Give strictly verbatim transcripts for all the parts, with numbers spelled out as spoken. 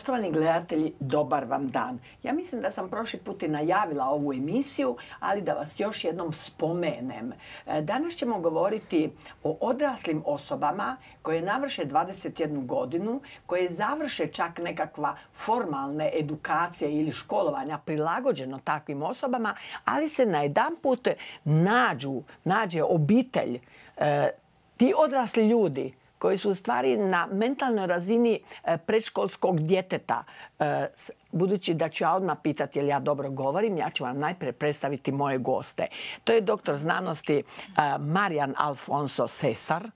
Poštovani gledatelji, dobar vam dan. Ja mislim da sam prošli put i najavila ovu emisiju, ali da vas još jednom spomenem. Danas ćemo govoriti o odraslim osobama koje navrše dvadeset jednu godinu, koje završe čak nekakva formalne edukacije ili školovanja prilagođeno takvim osobama, ali se najedanput nađu, nađe obitelj, ti odrasli ljudi koji su u stvari na mentalnoj razini predškolskog djeteta. Budući da ću ja odmah pitati jel ja dobro govorim, ja ću vam najprije predstaviti moje goste. To je doktor znanosti Marijan Alfonso Cesar.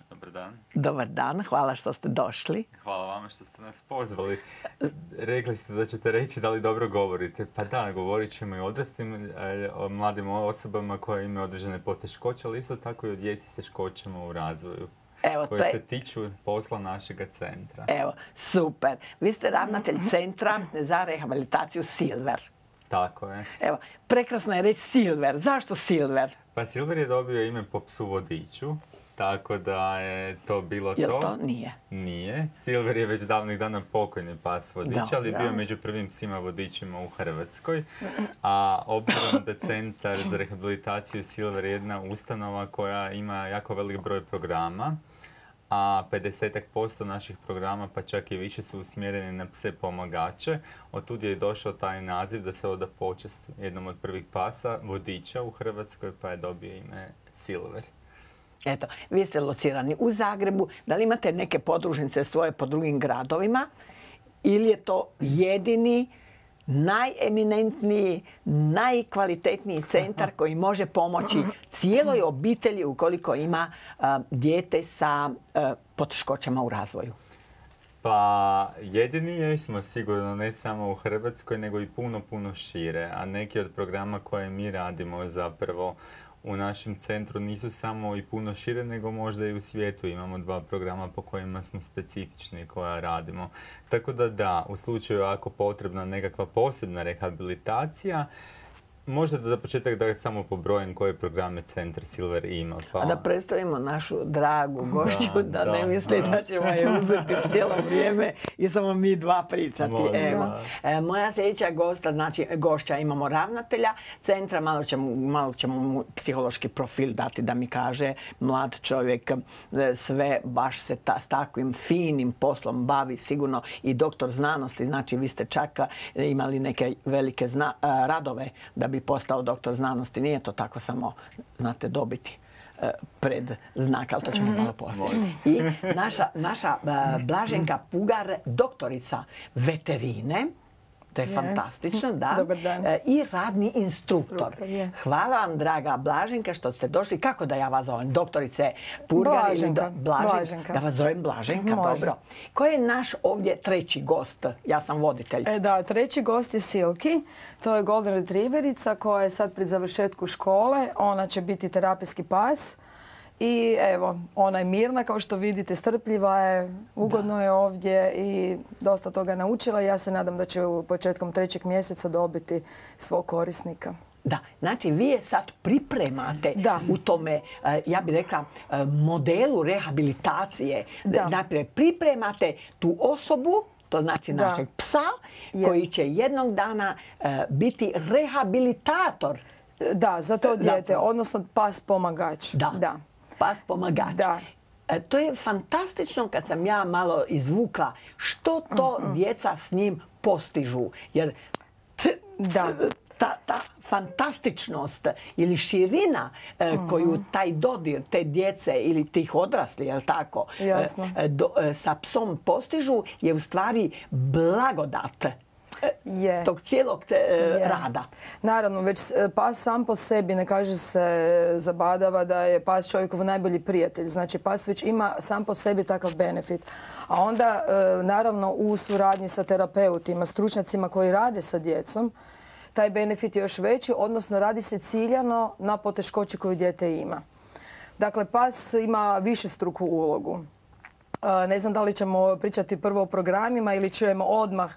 Dobar dan. Dobar dan, hvala što ste došli. Hvala vama što ste nas pozvali. Rekli ste da ćete reći da li dobro govorite. Pa da, govorit ćemo i odraslim, o mladim osobama koje imaju određene poteškoće, ali isto tako i o djeci s teškoćama u razvoju. Evo, koje je... se tiču posla našega centra. Evo, super. Vi ste ravnatelj centra za rehabilitaciju Silver. Tako je. Evo, prekrasno je reći Silver. Zašto Silver? Pa Silver je dobio ime po psu vodiču, tako da je to bilo to. Jel to? Nije. Nije. Silver je već davnih dana pokojni pas vodič, Dobro. ali je bio među prvim psima vodičima u Hrvatskoj. A obzirom da Centar za rehabilitaciju Silver je jedna ustanova koja ima jako velik broj programa, a pedeset posto naših programa, pa čak i više, su usmjereni na pse pomagače. Otud je došao taj naziv da se oda počast jednom od prvih pasa vodiča u Hrvatskoj, pa je dobio ime Silver. Eto, vi ste locirani u Zagrebu. Da li imate neke podružnice svoje po drugim gradovima? Ili je to jedini, najeminentniji, najkvalitetniji centar koji može pomoći cijeloj obitelji ukoliko ima uh, dijete sa uh, poteškoćama u razvoju? Pa jedini jesmo sigurno, ne samo u Hrvatskoj, nego i puno, puno šire. A neki od programa koje mi radimo zapravo u našem centru nisu samo i puno šire, nego možda i u svijetu. Imamo dva programa po kojima smo specifični koja radimo. Tako da da, u slučaju ako potrebna nekakva posebna rehabilitacija, možda da za početak da samo pobrojem koje programe Centar Silver ima. Pa... A da predstavimo našu dragu gošću, da, da, da ne misli da. da ćemo je uzeti cijelo vrijeme i samo mi dva pričati. Evo. E, moja sljedeća gosta, znači gošća, imamo ravnatelja centra, malo ćemo, malo ćemo mu psihološki profil dati da mi kaže mlad čovjek, sve baš se ta, s takvim finim poslom bavi, sigurno i doktor znanosti, znači vi ste čak imali neke velike zna, radove da bi postao doktor znanosti. Nije to tako samo, znate, dobiti uh, pred znak, ali to ćemo malo poslije. I naša, naša uh, Blaženka Pugar, doktorica veterine, to je yeah. fantastično, da. Dobar dan. E, I radni instruktor. Instruktor yeah. Hvala vam, draga Blaženka, što ste došli. Kako da ja vas zovem? Doktorice Purgar Blaženka. ili do... Blaženka. Blaženka. Da vas zovem Blaženka, Može. dobro. Ko je naš ovdje treći gost? Ja sam voditelj. E, da, treći gost je Silki. To je golden retrieverica koja je sad pri završetku škole. Ona će biti terapijski pas. I evo, ona je mirna, kao što vidite, strpljiva je, ugodno da. je ovdje i dosta toga naučila. Ja se nadam da će u početkom trećeg mjeseca dobiti svog korisnika. Da, znači vi je sad pripremate da. u tome, ja bih rekla, modelu rehabilitacije. Da. Naprijed pripremate tu osobu, to znači da. našeg psa, je. koji će jednog dana uh, biti rehabilitator. Da, za to dijete, odnosno pas pomagač. Da. da. Pas pomagač. Da. E, to je fantastično kad sam ja malo izvukla što to uh-huh. djeca s njim postižu. Jer t, da. ta, ta fantastičnost ili širina e, uh-huh. koju taj dodir te djece ili tih odrasli, jel tako, e, do, e, sa psom postižu je u stvari blagodat Je. tog cijelog te, je. rada. Naravno, već pas sam po sebi, ne kaže se zabadava da je pas čovjekov najbolji prijatelj. Znači, pas već ima sam po sebi takav benefit. A onda, naravno, u suradnji sa terapeutima, stručnjacima koji rade sa djecom, taj benefit je još veći, odnosno radi se ciljano na poteškoći koju dijete ima. Dakle, pas ima višestruku ulogu. Ne znam da li ćemo pričati prvo o programima ili ćemo odmah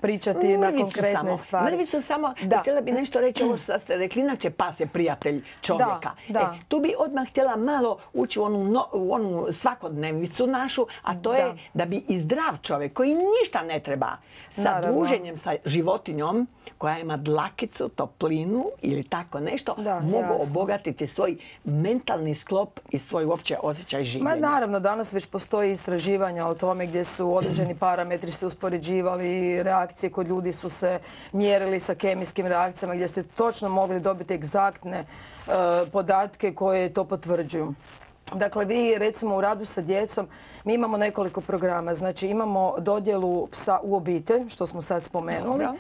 pričati mrvicu na konkretne samo. stvari. Mrvicu samo, da. Htjela bi nešto reći ovo što ste rekli, inače pas je prijatelj čovjeka. Da, da. E, tu bi odmah htjela malo ući u onu, no, u onu svakodnevnicu našu, a to da. je da bi i zdrav čovjek koji ništa ne treba sa Naravno. druženjem sa životinjom koja ima dlakicu, toplinu ili tako nešto, da, mogu jasno. obogatiti svoj mentalni sklop i svoj uopće osjećaj življenja. Ma naravno, danas već postoji istraživanja o tome gdje su određeni parametri se uspoređivali, reakcije kod ljudi su se mjerili sa kemijskim reakcijama gdje ste točno mogli dobiti egzaktne uh, podatke koje to potvrđuju. Dakle, vi recimo u radu sa djecom, mi imamo nekoliko programa. Znači imamo dodjelu psa u obitelj, što smo sad spomenuli. Dobra.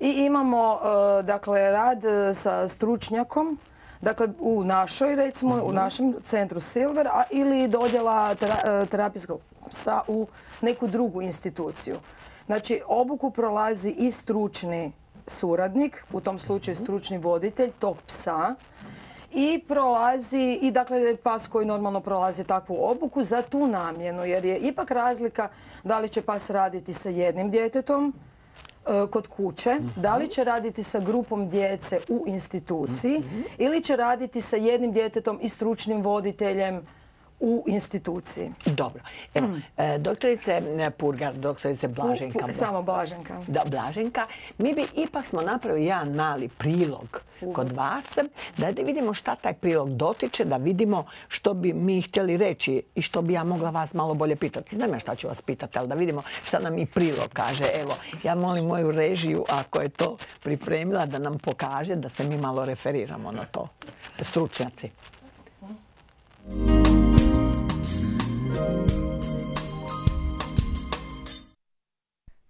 I imamo uh, dakle, rad sa stručnjakom, dakle u našoj, recimo, uh-huh. u našem centru Silver, a ili dodjela tera, terapijskog psa u neku drugu instituciju. Znači, obuku prolazi i stručni suradnik, u tom slučaju stručni voditelj tog psa, i prolazi, i dakle pas koji normalno prolazi takvu obuku za tu namjenu, jer je ipak razlika da li će pas raditi sa jednim djetetom e, kod kuće, mm-hmm. da li će raditi sa grupom djece u instituciji mm-hmm. ili će raditi sa jednim djetetom i stručnim voditeljem u instituciji. Dobro. Evo, mm. doktorice Purgar, doktorice Blaženka. U, samo Blaženka. Da, Blaženka. Mi bi ipak smo napravili jedan mali prilog uh. kod vas, da vidimo šta taj prilog dotiče, da vidimo što bi mi htjeli reći i što bi ja mogla vas malo bolje pitati. Znam ja šta ću vas pitati, ali da vidimo šta nam i prilog kaže. Evo, ja molim moju režiju, ako je to pripremila, da nam pokaže, da se mi malo referiramo na to. Stručnjaci.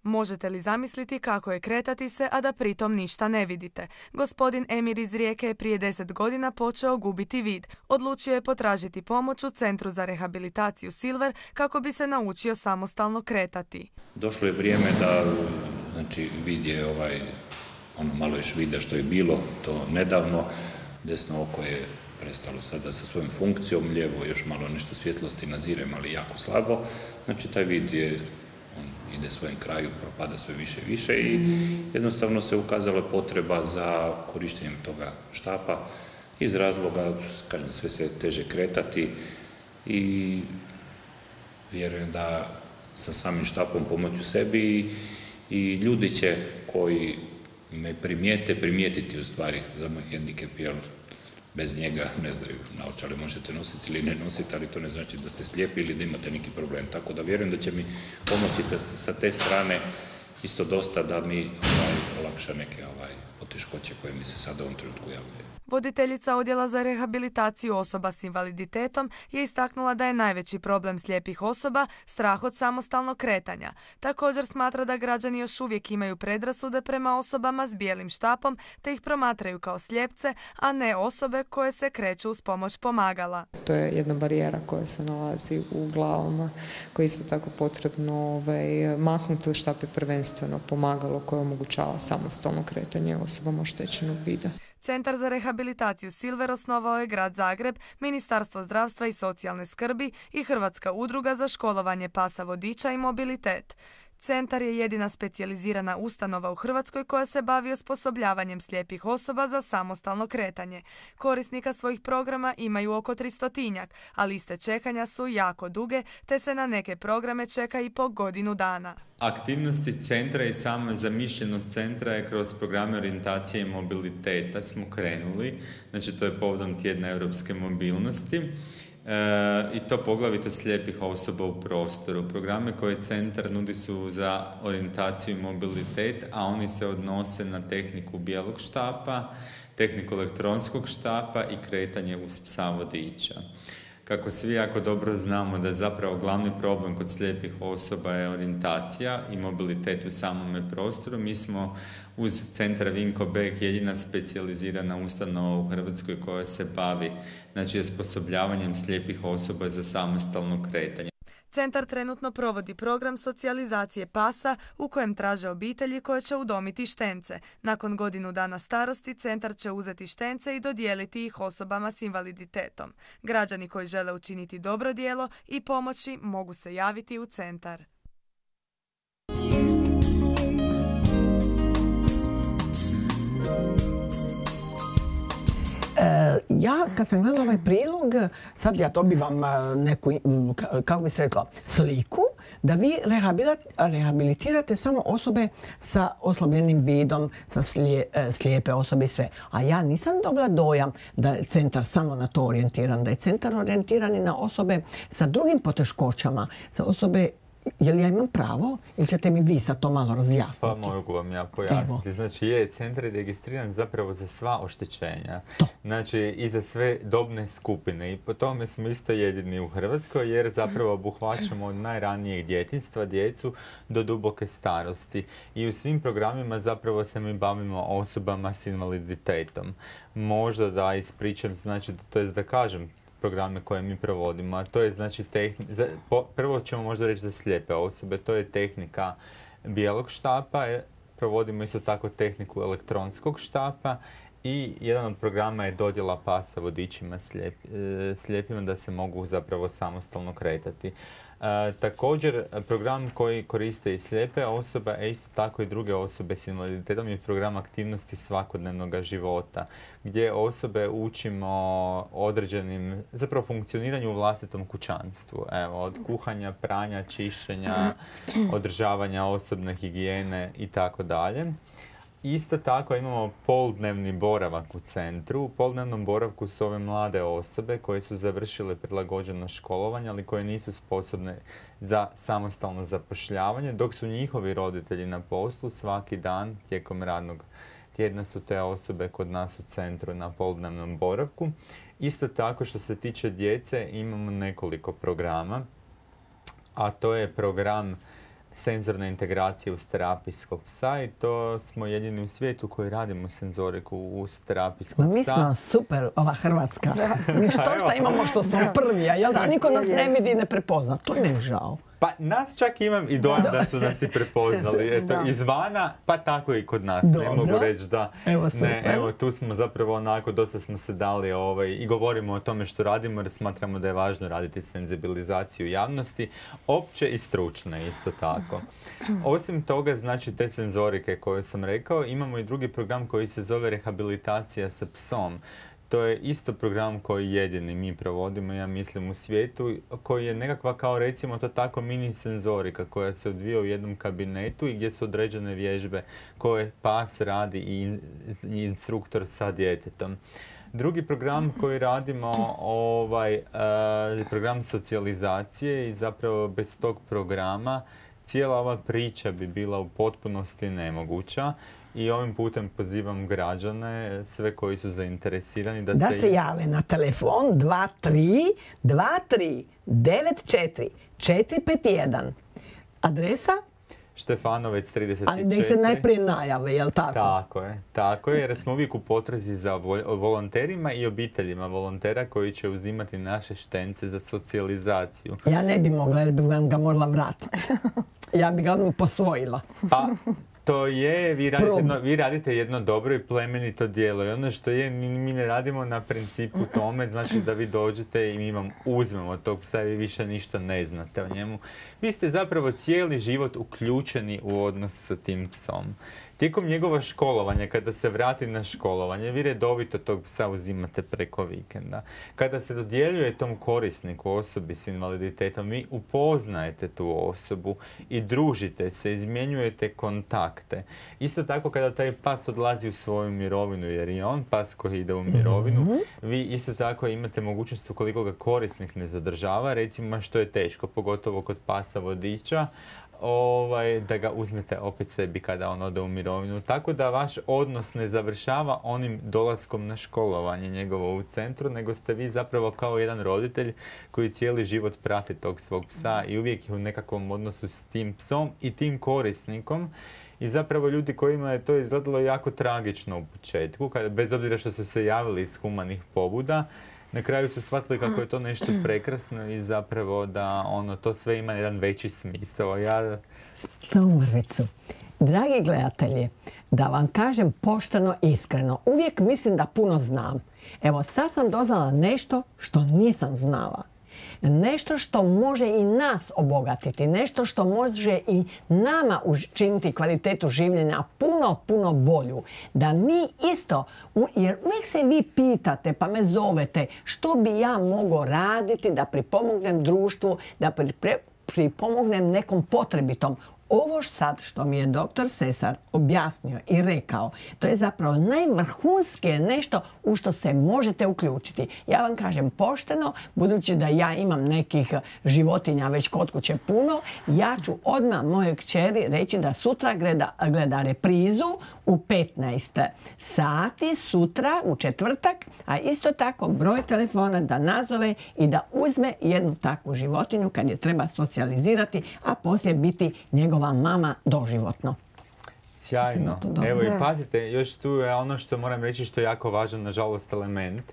Možete li zamisliti kako je kretati se, a da pritom ništa ne vidite? Gospodin Emir iz Rijeke je prije deset godina počeo gubiti vid. Odlučio je potražiti pomoć u Centru za rehabilitaciju Silver kako bi se naučio samostalno kretati. Došlo je vrijeme da, znači, vid je ovaj, ono malo još vida što je bilo, to nedavno, desno oko je prestalo sada sa svojom funkcijom, lijevo još malo nešto svjetlosti nazirem, ali jako slabo. Znači, taj vid je, on ide svojem kraju, propada sve više i više i jednostavno se ukazala potreba za korištenjem toga štapa iz razloga, kažem, sve se teže kretati i vjerujem da sa samim štapom pomoću sebi i, i ljudi će koji me primijete, primijetiti u stvari za moj hendikep, jer bez njega, ne znaju, naočale možete nositi ili ne nositi, ali to ne znači da ste slijepi ili da imate neki problem. Tako da vjerujem da će mi pomoći da sa te strane isto dosta da mi ovaj, olakša neke ovaj, poteškoće koje mi se sada u ovom trenutku javljaju. Voditeljica Odjela za rehabilitaciju osoba s invaliditetom je istaknula da je najveći problem slijepih osoba strah od samostalnog kretanja. Također smatra da građani još uvijek imaju predrasude prema osobama s bijelim štapom te ih promatraju kao slijepce, a ne osobe koje se kreću uz pomoć pomagala. To je jedna barijera koja se nalazi u glavama, koja je isto tako potrebno ovaj, maknuti. Štap je prvenstveno pomagalo koje omogućava samostalno kretanje osobama oštećenog vida. Centar za rehabilitaciju Silver osnovao je Grad Zagreb, Ministarstvo zdravstva i socijalne skrbi i Hrvatska udruga za školovanje pasa vodiča i mobilitet. Centar je jedina specijalizirana ustanova u Hrvatskoj koja se bavi osposobljavanjem slijepih osoba za samostalno kretanje. Korisnika svojih programa imaju oko tristotinjak, a liste čekanja su jako duge, te se na neke programe čeka i po godinu dana. Aktivnosti centra i sama zamišljenost centra je kroz programe orijentacije i mobiliteta smo krenuli. Znači, to je povodom tjedna europske mobilnosti. E, i to poglavito slijepih osoba u prostoru. Programe koje centar nudi su za orijentaciju i mobilitet, a oni se odnose na tehniku bijelog štapa, tehniku elektronskog štapa i kretanje uz psa vodiča. Kako svi jako dobro znamo da je zapravo glavni problem kod slijepih osoba je orijentacija i mobilitet u samome prostoru, mi smo uz centar Vinko Bek jedina specijalizirana ustanova u Hrvatskoj koja se bavi, znači, osposobljavanjem slijepih osoba za samostalno kretanje. Centar trenutno provodi program socijalizacije pasa u kojem traže obitelji koje će udomiti štence. Nakon godinu dana starosti centar će uzeti štence i dodijeliti ih osobama s invaliditetom. Građani koji žele učiniti dobro djelo i pomoći mogu se javiti u centar. Ja, kad sam gledala ovaj prilog, sad ja dobivam neku, kako bi se rekla, sliku da vi rehabilitirate samo osobe sa oslabljenim vidom, sa slijepe osobe i sve. A ja nisam dobila dojam da je centar samo na to orijentiran, da je centar orijentiran i na osobe sa drugim poteškoćama, sa osobe. Je li ja imam pravo ili ćete mi vi sad to malo razjasniti? Pa mogu vam ja pojasniti. Znači je centar je registriran zapravo za sva oštećenja. To. Znači i za sve dobne skupine. I po tome smo isto jedini u Hrvatskoj jer zapravo obuhvaćamo od najranijeg djetinjstva djecu do duboke starosti. I u svim programima zapravo se mi bavimo osobama s invaliditetom. Možda da ispričam, znači to je da kažem programe koje mi provodimo, a to je znači tehnika, prvo ćemo možda reći za slijepe osobe, to je tehnika bijelog štapa, provodimo isto tako tehniku elektronskog štapa i jedan od programa je dodjela pasa vodičima slijep, slijepima da se mogu zapravo samostalno kretati. E, također, program koji koriste i slijepe osobe, a isto tako i druge osobe s invaliditetom je program aktivnosti svakodnevnog života, gdje osobe učimo određenim, zapravo funkcioniranju u vlastitom kućanstvu. Evo, od kuhanja, pranja, čišćenja, održavanja osobne higijene i tako dalje. Isto tako imamo poldnevni boravak u centru. U poldnevnom boravku su ove mlade osobe koje su završile prilagođeno školovanje, ali koje nisu sposobne za samostalno zapošljavanje, dok su njihovi roditelji na poslu svaki dan tijekom radnog tjedna su te osobe kod nas u centru na poldnevnom boravku. Isto tako što se tiče djece imamo nekoliko programa, a to je program senzorne integracije uz terapijskog psa i to smo jedini u svijetu koji radimo senzoriku uz terapijskog psa. Mi smo super, ova Hrvatska. Mi što šta imamo što smo prvi, a jel da? Niko nas ne vidi i ne prepozna. To mi je žao. Pa nas čak imam i dojam da su nas i prepoznali. Eto, izvana, pa tako i kod nas. Dobro. Ne mogu reći da... Evo, ne, evo, tu smo zapravo onako, dosta smo se dali ovaj, i govorimo o tome što radimo jer smatramo da je važno raditi senzibilizaciju javnosti, opće i stručne isto tako. Osim toga, znači te senzorike koje sam rekao, imamo i drugi program koji se zove rehabilitacija sa psom. To je isto program koji jedini mi provodimo, ja mislim, u svijetu, koji je nekakva kao recimo to tako mini senzorika koja se odvija u jednom kabinetu i gdje su određene vježbe koje pas radi i instruktor sa djetetom. Drugi program koji radimo ovaj, uh, program socijalizacije i zapravo bez tog programa cijela ova priča bi bila u potpunosti nemoguća. I ovim putem pozivam građane, sve koji su zainteresirani da, da se... se jave na telefon dva tri dva tri devet četiri četiri pet jedan. Adresa? Štefanovac trideset četiri. Ali da se najprije najave, jel tako? Tako je, tako je, jer smo uvijek u potrazi za volonterima i obiteljima volontera koji će uzimati naše štence za socijalizaciju. Ja ne bi mogla jer bi vam ga morala vratiti. Ja bi ga odmah posvojila. Pa, to je, vi radite, jedno, vi radite jedno dobro i plemenito djelo i ono što je, mi ne radimo na principu tome, znači da vi dođete i mi vam uzmemo tog psa i vi više ništa ne znate o njemu. Vi ste zapravo cijeli život uključeni u odnos sa tim psom. Tijekom njegova školovanja, kada se vrati na školovanje, vi redovito tog psa uzimate preko vikenda. Kada se dodjeljuje tom korisniku, osobi s invaliditetom, vi upoznajete tu osobu i družite se, izmjenjujete kontakte. Isto tako kada taj pas odlazi u svoju mirovinu, jer je on pas koji ide u mirovinu, mm-hmm. vi isto tako imate mogućnost ukoliko ga korisnik ne zadržava, recimo što je teško, pogotovo kod pasa vodiča, Ovaj, da ga uzmete opet sebi kada on ode u mirovinu. Tako da vaš odnos ne završava onim dolaskom na školovanje njegovo u centru, nego ste vi zapravo kao jedan roditelj koji cijeli život prati tog svog psa i uvijek je u nekakvom odnosu s tim psom i tim korisnikom. I zapravo ljudi kojima je to izgledalo jako tragično u početku, kada, bez obzira što su se javili iz humanih pobuda, na kraju su shvatili kako je to nešto prekrasno i zapravo da ono, to sve ima jedan veći smisao. Ja... Samo mrvicu. Dragi gledatelji, da vam kažem pošteno i iskreno, uvijek mislim da puno znam. Evo, sad sam doznala nešto što nisam znala. Nešto što može i nas obogatiti, nešto što može i nama učiniti kvalitetu življenja puno, puno bolju. Da mi isto, jer uvijek se vi pitate pa me zovete što bi ja mogao raditi da pripomognem društvu, da pripomognem nekom potrebitom. Ovo sad što mi je doktor Sesar objasnio i rekao, to je zapravo najvrhunskije nešto u što se možete uključiti. Ja vam kažem pošteno, budući da ja imam nekih životinja već kod kuće puno, ja ću odmah mojoj kćeri reći da sutra gleda, gleda reprizu u petnaest sati, sutra u četvrtak, a isto tako broj telefona da nazove i da uzme jednu takvu životinju kad je treba socijalizirati, a poslije biti njegova mama doživotno. Sjajno. Evo i pazite, još tu je ono što moram reći što je jako važan, nažalost, element.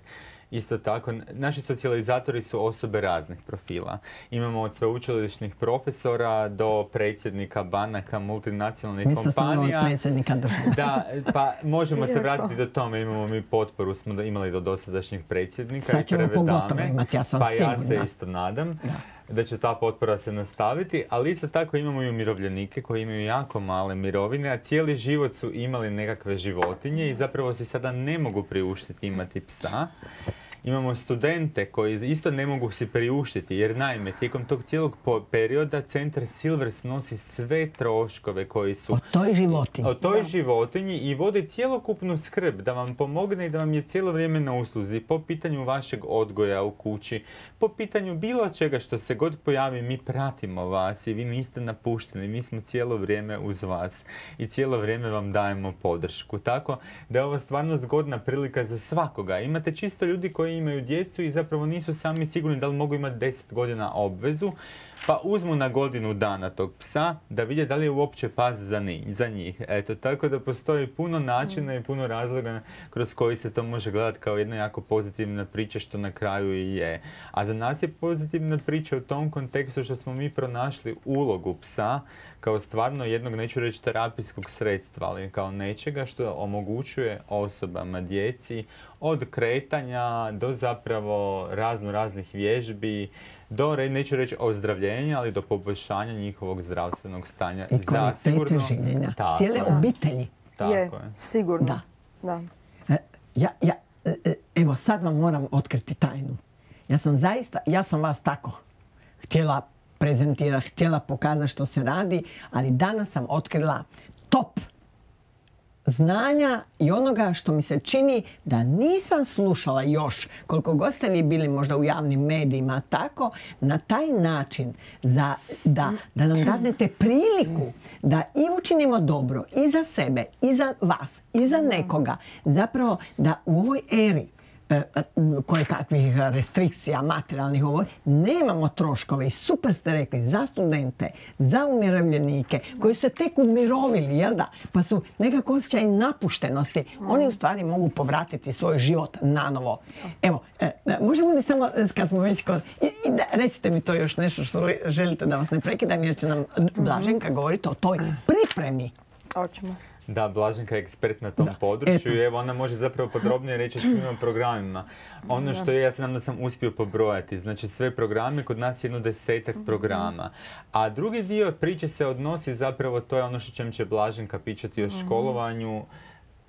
Isto tako, naši socijalizatori su osobe raznih profila. Imamo od sveučilišnih profesora do predsjednika banaka, multinacionalnih Mislim kompanija. Mislim sam predsjednika države. Da, pa možemo se vratiti do tome. Imamo mi potporu, smo imali do dosadašnjih predsjednika. Sad ćemo pogotovo imati, ja sam pa sigurna. Ja se isto nadam. Da. da će ta potpora se nastaviti, ali isto tako imamo i umirovljenike koji imaju jako male mirovine, a cijeli život su imali nekakve životinje i zapravo si sada ne mogu priuštiti imati psa. Imamo studente koji isto ne mogu si priuštiti, jer naime, tijekom tog cijelog perioda Centar Silvers nosi sve troškove koji su... O toj životinji. O toj da. životinji i vodi cjelokupnu skrb da vam pomogne i da vam je cijelo vrijeme na usluzi po pitanju vašeg odgoja u kući, po pitanju bilo čega što se god pojavi, mi pratimo vas i vi niste napušteni, mi smo cijelo vrijeme uz vas i cijelo vrijeme vam dajemo podršku. Tako da je ovo stvarno zgodna prilika za svakoga. Imate čisto ljudi koji imaju djecu i zapravo nisu sami sigurni da li mogu imati deset godina obvezu, pa uzmu na godinu dana tog psa da vidje da li je uopće pas za, ni, za njih. Eto, tako da postoji puno načina i puno razloga kroz koji se to može gledati kao jedna jako pozitivna priča, što na kraju i je. A za nas je pozitivna priča u tom kontekstu što smo mi pronašli ulogu psa kao stvarno jednog, neću reći terapijskog sredstva, ali kao nečega što omogućuje osobama, djeci, od kretanja do zapravo razno raznih vježbi, do, neću reći ozdravljenja, ali do poboljšanja njihovog zdravstvenog stanja. I kvalitete življenja. Cijele je. obitelji. Tako je, je. Sigurno. Da. Da. Ja, ja, evo, sad vam moram otkriti tajnu. Ja sam zaista, ja sam vas tako htjela prezentirati, htjela pokazati što se radi, ali danas sam otkrila top znanja i onoga što mi se čini da nisam slušala još, koliko god ste vi bili možda u javnim medijima, tako, na taj način za, da, da nam dadnete priliku da i učinimo dobro i za sebe, i za vas, i za nekoga. Zapravo da u ovoj eri koje kakvih restrikcija materijalnih ovo, nemamo troškove i super ste rekli za studente, za umirovljenike koji se tek umirovili, jel da? Pa su nekako osjećaj napuštenosti. Oni u stvari mogu povratiti svoj život nanovo. Evo, možemo li samo, kad smo već kod... I, i da, recite mi to još nešto što želite da vas ne prekidam, jer će nam Blaženka govoriti o toj pripremi. Hoćemo. Da, Blaženka je ekspert na tom da, području i evo ona može zapravo podrobnije reći o svim programima. Ono što je, ja se nam da sam uspio pobrojati, znači sve programe, kod nas je jedno desetak programa. A drugi dio priče se odnosi zapravo, to je ono što ćemo će Blaženka pričati o školovanju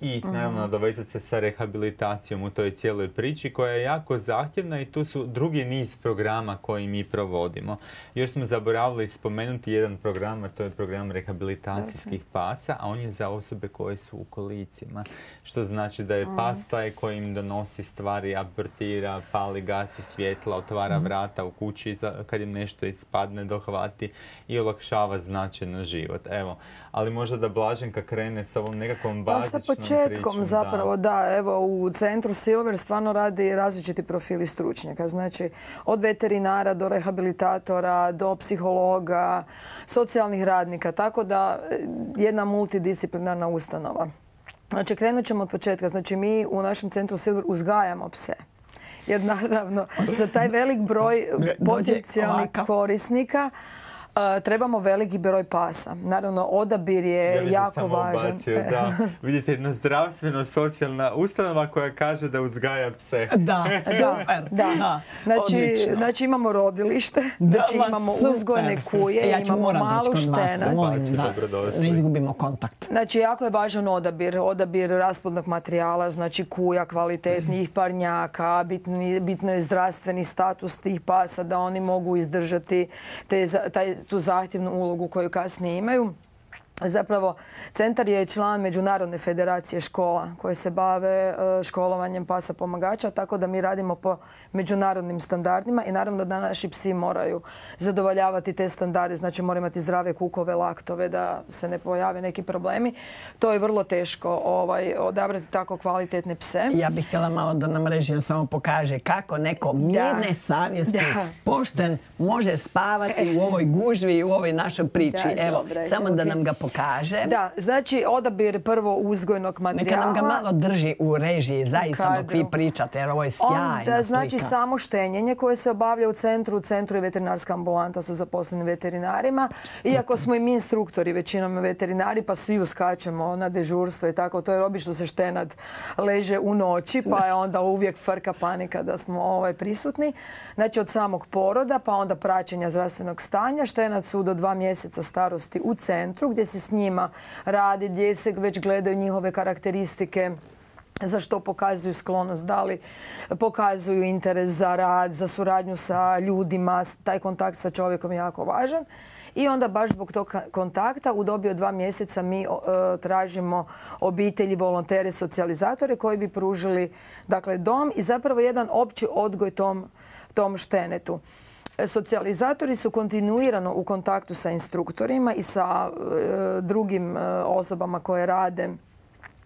i naravno nadovezati se sa rehabilitacijom u toj cijeloj priči koja je jako zahtjevna i tu su drugi niz programa koji mi provodimo. Još smo zaboravili spomenuti jedan program, a to je program rehabilitacijskih pasa, a on je za osobe koje su u kolicima. Što znači da je pas taj koji im donosi stvari, abortira, pali, gasi svjetla, otvara vrata u kući kad im nešto ispadne, dohvati i olakšava značajno život. Evo, ali možda da Blaženka krene sa ovom nekakvom bazičnom pričom. Sa početkom zapravo, da. da, evo u Centru Silver stvarno radi različiti profili stručnjaka. Znači, od veterinara do rehabilitatora, do psihologa, socijalnih radnika, tako da jedna multidisciplinarna ustanova. Znači, krenut ćemo od početka. Znači, mi u našem Centru Silver uzgajamo pse. jer naravno za taj velik broj potencijalnih korisnika Uh, trebamo veliki broj pasa. Naravno, odabir je ja jako samo važan. Obacio, da. Vidite, jedna zdravstveno-socijalna ustanova koja kaže da uzgaja pse. Da, super. Da, da. Znači, znači imamo rodilište, da, znači imamo super. uzgojne kuje, ja imamo malu štenad. Ne izgubimo kontakt. Znači, jako je važan odabir. Odabir rasplodnog materijala, znači kuja, kvalitetnijih parnjaka, bitni, bitno je zdravstveni status tih pasa, da oni mogu izdržati te, taj tu zahtjevnu ulogu koju kasnije imaju. Zapravo, centar je član Međunarodne federacije škola koje se bave školovanjem pasa pomagača, tako da mi radimo po međunarodnim standardima i naravno da naši psi moraju zadovoljavati te standarde, znači moraju imati zdrave kukove, laktove, da se ne pojave neki problemi. To je vrlo teško ovaj, odabrati tako kvalitetne pse. Ja bih htjela malo da nam režija samo pokaže kako neko mirne da. savjesti, da. pošten, može spavati u ovoj gužvi i u ovoj našoj priči. Da, Evo, dobre, samo da nam ga pokaže. Da, znači odabir prvo uzgojnog materijala. Neka nam ga malo drži u režiji, zaista dok vi pričate, jer ovo je sjajna Onda, znači slika. samo štenjenje koje se obavlja u centru. U centru je veterinarska ambulanta sa zaposlenim veterinarima. Iako smo i mi instruktori, većinom veterinari, pa svi uskačemo na dežurstvo i tako. To je obično se štenad leže u noći, pa je onda uvijek frka panika da smo ovaj, prisutni. Znači od samog poroda, pa onda praćenja zdravstvenog stanja. Štenad su do dva mjeseca starosti u centru, gdje se s njima radi, gdje se već gledaju njihove karakteristike, za što pokazuju sklonost, da li pokazuju interes za rad, za suradnju sa ljudima, taj kontakt sa čovjekom je jako važan. I onda baš zbog tog kontakta u dobi od dva mjeseca mi uh, tražimo obitelji, volontere, socijalizatore koji bi pružili dakle, dom i zapravo jedan opći odgoj tom, tom štenetu. Socijalizatori su kontinuirano u kontaktu sa instruktorima i sa e, drugim e, osobama koje rade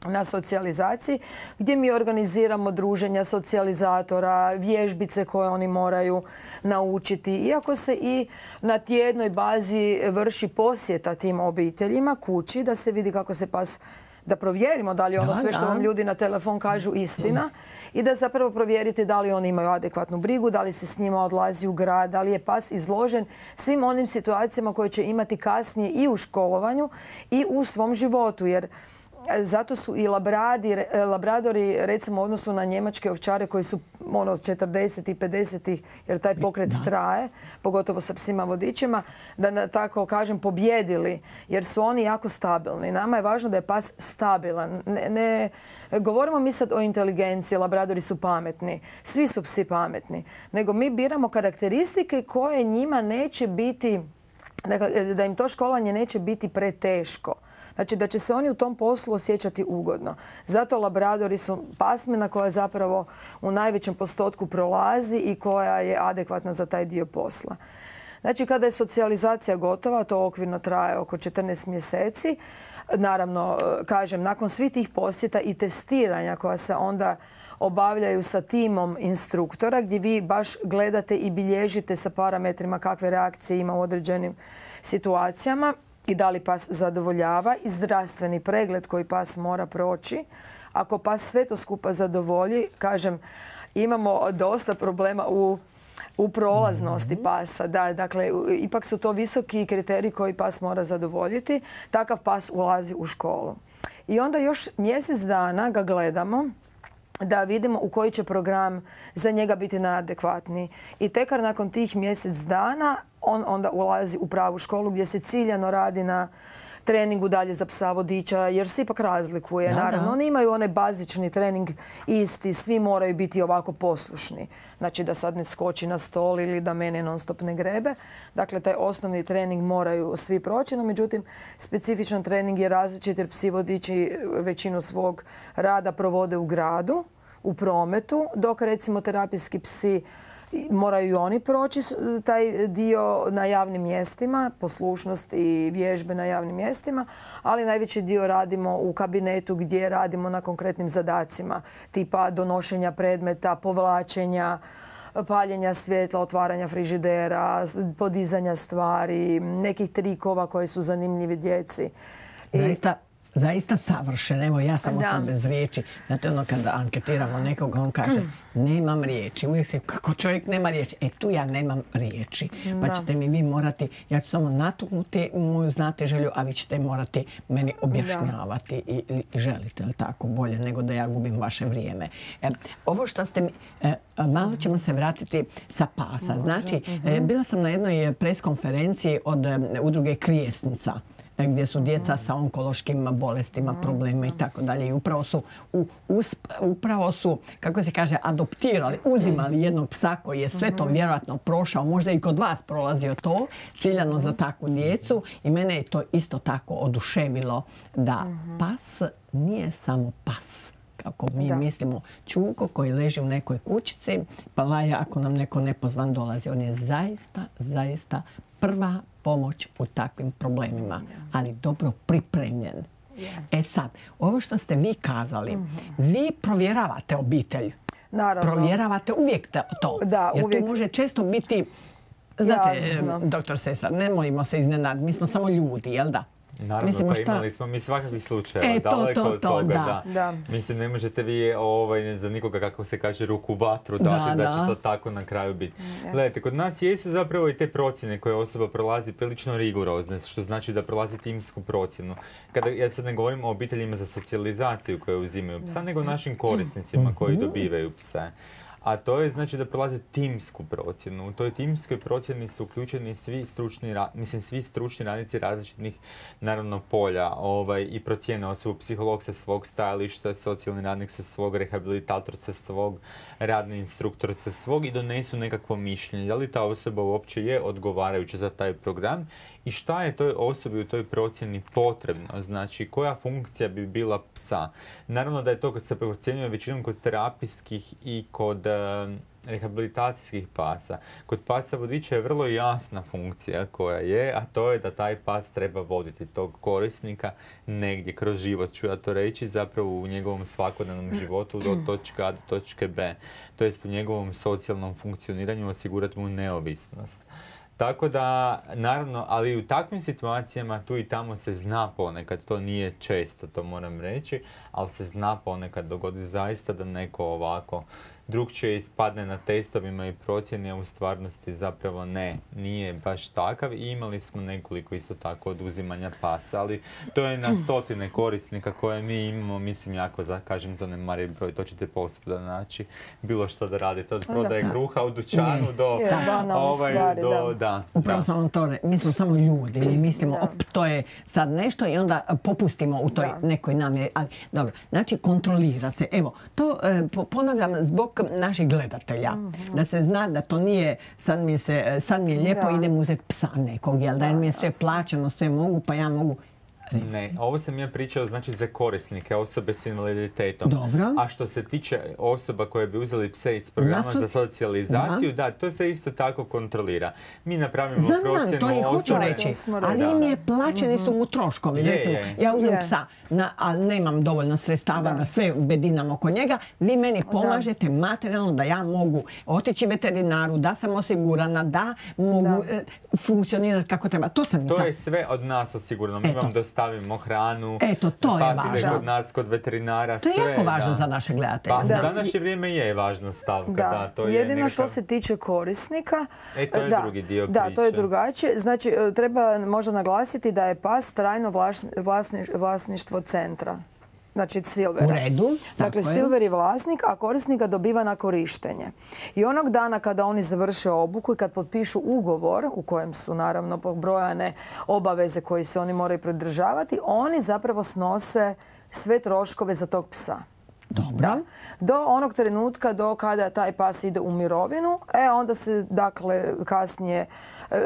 na socijalizaciji, gdje mi organiziramo druženja socijalizatora, vježbice koje oni moraju naučiti. Iako se i na tjednoj bazi vrši posjeta tim obiteljima kući, da se vidi kako se pas, da provjerimo da li je ono sve što vam ljudi na telefon kažu istina i da zapravo provjerite da li oni imaju adekvatnu brigu, da li se s njima odlazi u grad, da li je pas izložen svim onim situacijama koje će imati kasnije i u školovanju i u svom životu. Jer zato su i labradi, labradori, recimo u odnosu na njemačke ovčare koji su ono četrdesetih i pedesetih, jer taj pokret da. traje, pogotovo sa psima vodičima, da na, tako kažem pobjedili, jer su oni jako stabilni. Nama je važno da je pas stabilan. Ne, ne govorimo mi sad o inteligenciji, labradori su pametni, svi su psi pametni, nego mi biramo karakteristike koje njima neće biti, dakle, da im to školovanje neće biti preteško. Znači da će se oni u tom poslu osjećati ugodno. Zato labradori su pasmina koja zapravo u najvećem postotku prolazi i koja je adekvatna za taj dio posla. Znači kada je socijalizacija gotova, to okvirno traje oko četrnaest mjeseci, naravno, kažem, nakon svih tih posjeta i testiranja koja se onda obavljaju sa timom instruktora, gdje vi baš gledate i bilježite sa parametrima kakve reakcije ima u određenim situacijama, i da li pas zadovoljava i zdravstveni pregled koji pas mora proći. Ako pas sve to skupa zadovolji, kažem, imamo dosta problema u, u prolaznosti pasa. Da, dakle, ipak su to visoki kriteriji koji pas mora zadovoljiti. Takav pas ulazi u školu. I onda još mjesec dana ga gledamo da vidimo u koji će program za njega biti najadekvatniji. I tekar nakon tih mjesec dana on onda ulazi u pravu školu gdje se ciljano radi na treningu dalje za psa vodiča, jer se ipak razlikuje. Da, naravno, da. Oni imaju onaj bazični trening isti, svi moraju biti ovako poslušni. Znači da sad ne skoči na stol ili da mene non stop ne grebe. Dakle, taj osnovni trening moraju svi proći, no međutim, specifičan trening je različit jer psi vodiči većinu svog rada provode u gradu, u prometu, dok recimo terapijski psi moraju i oni proći taj dio na javnim mjestima, poslušnost i vježbe na javnim mjestima, ali najveći dio radimo u kabinetu gdje radimo na konkretnim zadacima, tipa donošenja predmeta, povlačenja, paljenja svjetla, otvaranja frižidera, podizanja stvari, nekih trikova koji su zanimljivi djeci. Zaista zaista savršen. Evo, ja sam Da. ostala bez riječi. Znate, ono kada anketiramo nekoga, on kaže, nemam riječi. Uvijek se, kako čovjek nema riječi? E, tu ja nemam riječi. Pa Da. ćete mi vi morati, ja ću samo natuknuti moju znatiželju, a vi ćete morati meni objašnjavati i, i želite, li tako, bolje nego da ja gubim vaše vrijeme. E, ovo što ste mi, e, malo ćemo se vratiti sa pasa. Znači, e, bila sam na jednoj preskonferenciji od e, udruge Krijesnica, gdje su djeca sa onkološkim bolestima, problema i tako dalje. I upravo su, u, usp, upravo su, kako se kaže, adoptirali, uzimali jednog psa koji je sve to vjerojatno prošao, možda i kod vas prolazio to, ciljano za takvu djecu. I mene je to isto tako oduševilo da pas nije samo pas. Kako mi Da. mislimo, čuko koji leži u nekoj kućici, pa laja ako nam neko nepozvan dolazi. On je zaista, zaista prva pomoć u takvim problemima, ali dobro pripremljen. E sad, ovo što ste vi kazali, vi provjeravate obitelj. Naravno. Provjeravate uvijek to. Da, jer uvijek. tu može često biti, znate, Jasno. doktor Sesar, ne molimo se iznenaditi, mi smo samo ljudi, jel da? Naravno, Mislimo pa šta- imali smo mi svakakvih slučajeva, E, to, daleko to, od to, toga, da. da. Da. Mislim, ne možete vi ovaj, za nikoga, kako se kaže, ruku u vatru dati da, Da, će da. to tako na kraju biti. Gledajte, kod nas jesu zapravo i te procjene koje osoba prolazi prilično rigorozne, što znači da prolazi timsku procjenu. Kada, ja sad ne govorim o obiteljima za socijalizaciju koje uzimaju psa, nego o našim korisnicima koji dobivaju pse. A to je znači da prolaze timsku procjenu. U toj timskoj procjeni su uključeni svi stručni, ra- mislim, svi stručni radnici različitih, naravno, polja ovaj, i procjene osobu. Psiholog sa svog stajališta, socijalni radnik sa svog, rehabilitator sa svog, radni instruktor sa svog i donesu nekakvo mišljenje. Da li ta osoba uopće je odgovarajuća za taj program i šta je toj osobi u toj procjeni potrebno, znači koja funkcija bi bila psa. Naravno da je to kad se procjenjuje većinom kod terapijskih i kod e, rehabilitacijskih pasa. Kod pasa vodiča je vrlo jasna funkcija koja je, a to je da taj pas treba voditi tog korisnika negdje kroz život, ću ja to reći, zapravo u njegovom svakodnevnom životu do točke A do točke B. To jest u njegovom socijalnom funkcioniranju osigurati mu neovisnost. Tako da, naravno, ali u takvim situacijama tu i tamo se zna ponekad, to nije često, to moram reći, ali se zna ponekad dogodi zaista da neko ovako drukčije ispadne na testovima i procjeni, a u stvarnosti zapravo ne, nije baš takav. I imali smo nekoliko isto tako oduzimanja pasa, ali to je na stotine korisnika koje mi imamo, mislim, jako, za, kažem, zanemariv broj, to ćete posvuda naći, bilo što da radite, od prodaje kruha u dućanu do... Je, banalne stvari, do, da. da, Upravo da. sam vam to re- mi smo samo ljudi, mi mislimo, Da. op, to je sad nešto i onda popustimo u toj Da. nekoj namjeri. Ali, dobro, znači kontrolira se. Evo, to e, po- ponavljam zbog naših gledatelja, da se zna da to nije, sad mi je, se, sad mi je lijepo, Da. idem uzeti psa nekog, jel da, jer mi je sve plaćeno, sve mogu, pa ja mogu. Ne, ovo sam ja pričao znači za korisnike, osobe s invaliditetom. Dobro. A što se tiče osoba koje bi uzeli pse iz programa Na soci- za socijalizaciju, da. to se isto tako kontrolira. Mi napravimo Znam, znam, procjenu to i hoću osobe. reći, To smo ali rekli. mi je plaćeni su mu troškovi. Je, Recimo, je. ja uzmem Je. psa, na, ali nemam dovoljno sredstava da, sve bedinam oko njega. Vi meni pomažete materijalno da ja mogu otići veterinaru, da sam osigurana, da mogu Da. e, funkcionirati kako treba. To sam i To sad. je sve od nas osigurano. Mi Eto. vam dostavimo hranu, Eto, to je pas ide važno. kod nas, kod veterinara, To je sve. jako važno da. za naše gledatelje. Pa, Da. u današnje vrijeme je važna stavka. Da, Da, to je jedino što nekakav- se tiče korisnika, E, to je da, drugi dio da, to je priče. drugačije. Znači, e, treba možda naglasiti da je pas trajno vlaš- vlasni- vlasništvo centra. Znači Silvera. U redu, tako Dakle, je. Silver je vlasnik, a korisnik ga dobiva na korištenje. I onog dana kada oni završe obuku i kad potpišu ugovor u kojem su naravno pobrojane obaveze koje se oni moraju pridržavati, oni zapravo snose sve troškove za tog psa. Dobro. Da. Do onog trenutka do kada taj pas ide u mirovinu, e onda se dakle kasnije, e,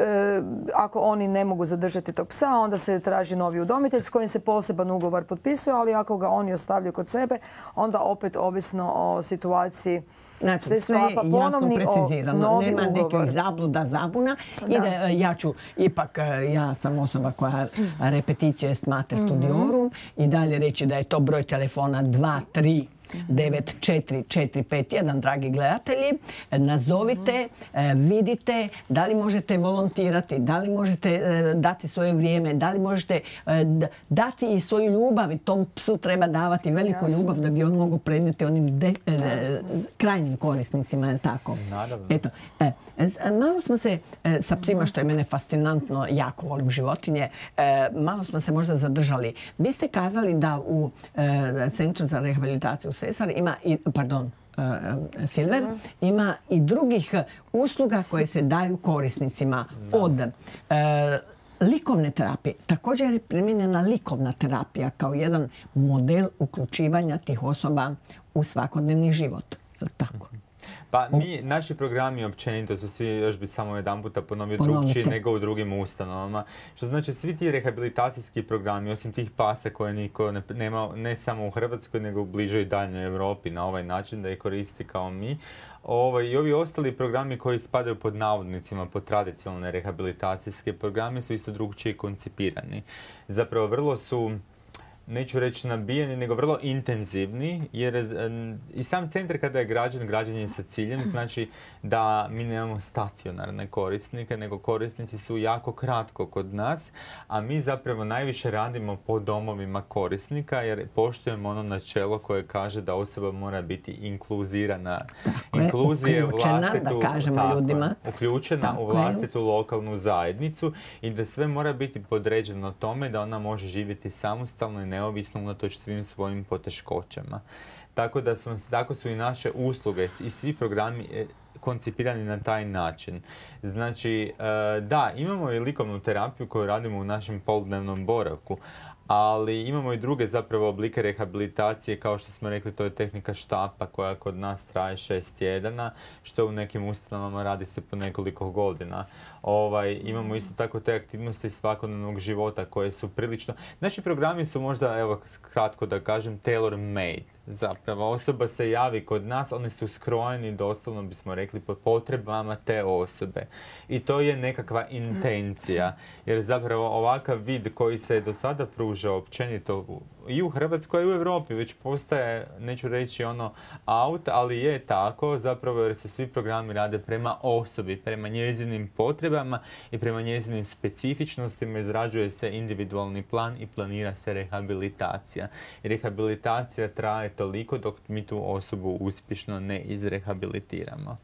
ako oni ne mogu zadržati tog psa, onda se traži novi udomitelj s kojim se poseban ugovor potpisuje, ali ako ga oni ostavljaju kod sebe, onda opet ovisno o situaciji Znači, se sve je sklapa jasno ponovni o, precizirano. novi Nema ugovor. nekih zabluda, zabuna. Da. Ide, e, ja ću, ipak, e, ja sam osoba koja repetitio est mater studiorum i dalje reći da je to broj telefona dva tri devet četiri četiri pet jedan, dragi gledatelji. Nazovite, vidite da li možete volontirati, da li možete dati svoje vrijeme, da li možete dati i svoju ljubav. I tom psu treba davati veliku Jasne. ljubav da bi on mogu prenijeti onim de, krajnjim korisnicima. Je tako? Naravno. Eto, e, malo smo se e, sa psima, što je mene fascinantno, jako volim životinje, e, malo smo se možda zadržali. Vi ste kazali da u e, Centru za rehabilitaciju Sesar ima i, pardon, e, Silver, ima i drugih usluga koje se daju korisnicima od e, likovne terapije. Također je primijenjena likovna terapija kao jedan model uključivanja tih osoba u svakodnevni život. Je li tako? Pa mi, naši programi općenito su svi, još bi samo jedan puta ponovio, drugčiji nego u drugim ustanovama. Što znači svi ti rehabilitacijski programi, osim tih pasa koje niko ne, nema ne samo u Hrvatskoj nego u bližoj i daljnjoj Europi na ovaj način da ih koristi kao mi. Ovo, i ovi ostali programi koji spadaju pod navodnicima, pod tradicionalne rehabilitacijske programe su isto drugčije koncipirani. Zapravo vrlo su, neću reći nabijeni, nego vrlo intenzivni, jer i sam centar kada je građen, građen je sa ciljem, znači da mi nemamo stacionarne korisnike, nego korisnici su jako kratko kod nas, a mi zapravo najviše radimo po domovima korisnika, jer poštujemo ono načelo koje kaže da osoba mora biti inkluzirana. Inkluzija uključena, vlastitu, da kažemo tako, ljudima. Uključena tako u vlastitu je. lokalnu zajednicu i da sve mora biti podređeno tome da ona može živjeti samostalno i neovisno unatoč svim svojim poteškoćama. Tako da smo, tako su i naše usluge i svi programi koncipirani na taj način. Znači, da, imamo i likovnu terapiju koju radimo u našem poludnevnom boravku, ali imamo i druge zapravo oblike rehabilitacije, kao što smo rekli, to je tehnika štapa koja kod nas traje šest tjedana, što u nekim ustanovama radi se po nekoliko godina. Ovaj, imamo isto tako te aktivnosti svakodnevnog života koje su prilično... Naši programi su možda, evo kratko da kažem, tailor made. Zapravo, osoba se javi kod nas, oni su skrojeni, doslovno bismo rekli, po potrebama te osobe. I to je nekakva intencija. Jer zapravo ovakav vid koji se do sada pružao općenito i u Hrvatskoj i u Europi već postaje, neću reći ono out, ali je tako zapravo jer se svi programi rade prema osobi, prema njezinim potrebama i prema njezinim specifičnostima, izrađuje se individualni plan i planira se rehabilitacija. I rehabilitacija traje toliko dok mi tu osobu uspješno ne izrehabilitiramo.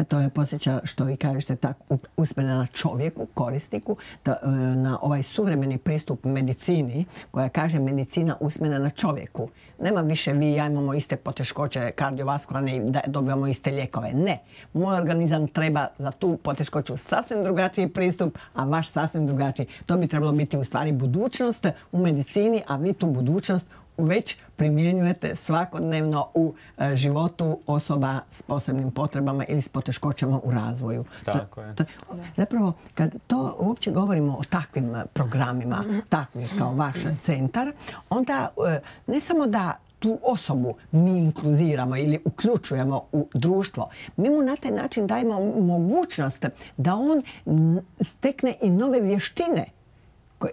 To je podsjeća, što vi kažete, tako usmjerena na čovjeku, korisniku, da, na ovaj suvremeni pristup medicini, koja kaže medicina usmjerena na čovjeku. Nema više vi i ja imamo iste poteškoće kardiovaskularne i da dobivamo iste lijekove. Ne. Moj organizam treba za tu poteškoću sasvim drugačiji pristup, a vaš sasvim drugačiji. To bi trebalo biti u stvari budućnost u medicini, a vi tu budućnost već primjenjujete svakodnevno u e, životu osoba s posebnim potrebama ili s poteškoćama u razvoju. Tako je. To, to, zapravo, kad to uopće govorimo o takvim programima, takvih kao vaš centar, onda e, ne samo da tu osobu mi inkluziramo ili uključujemo u društvo, mi mu na taj način dajemo mogućnost da on stekne i nove vještine.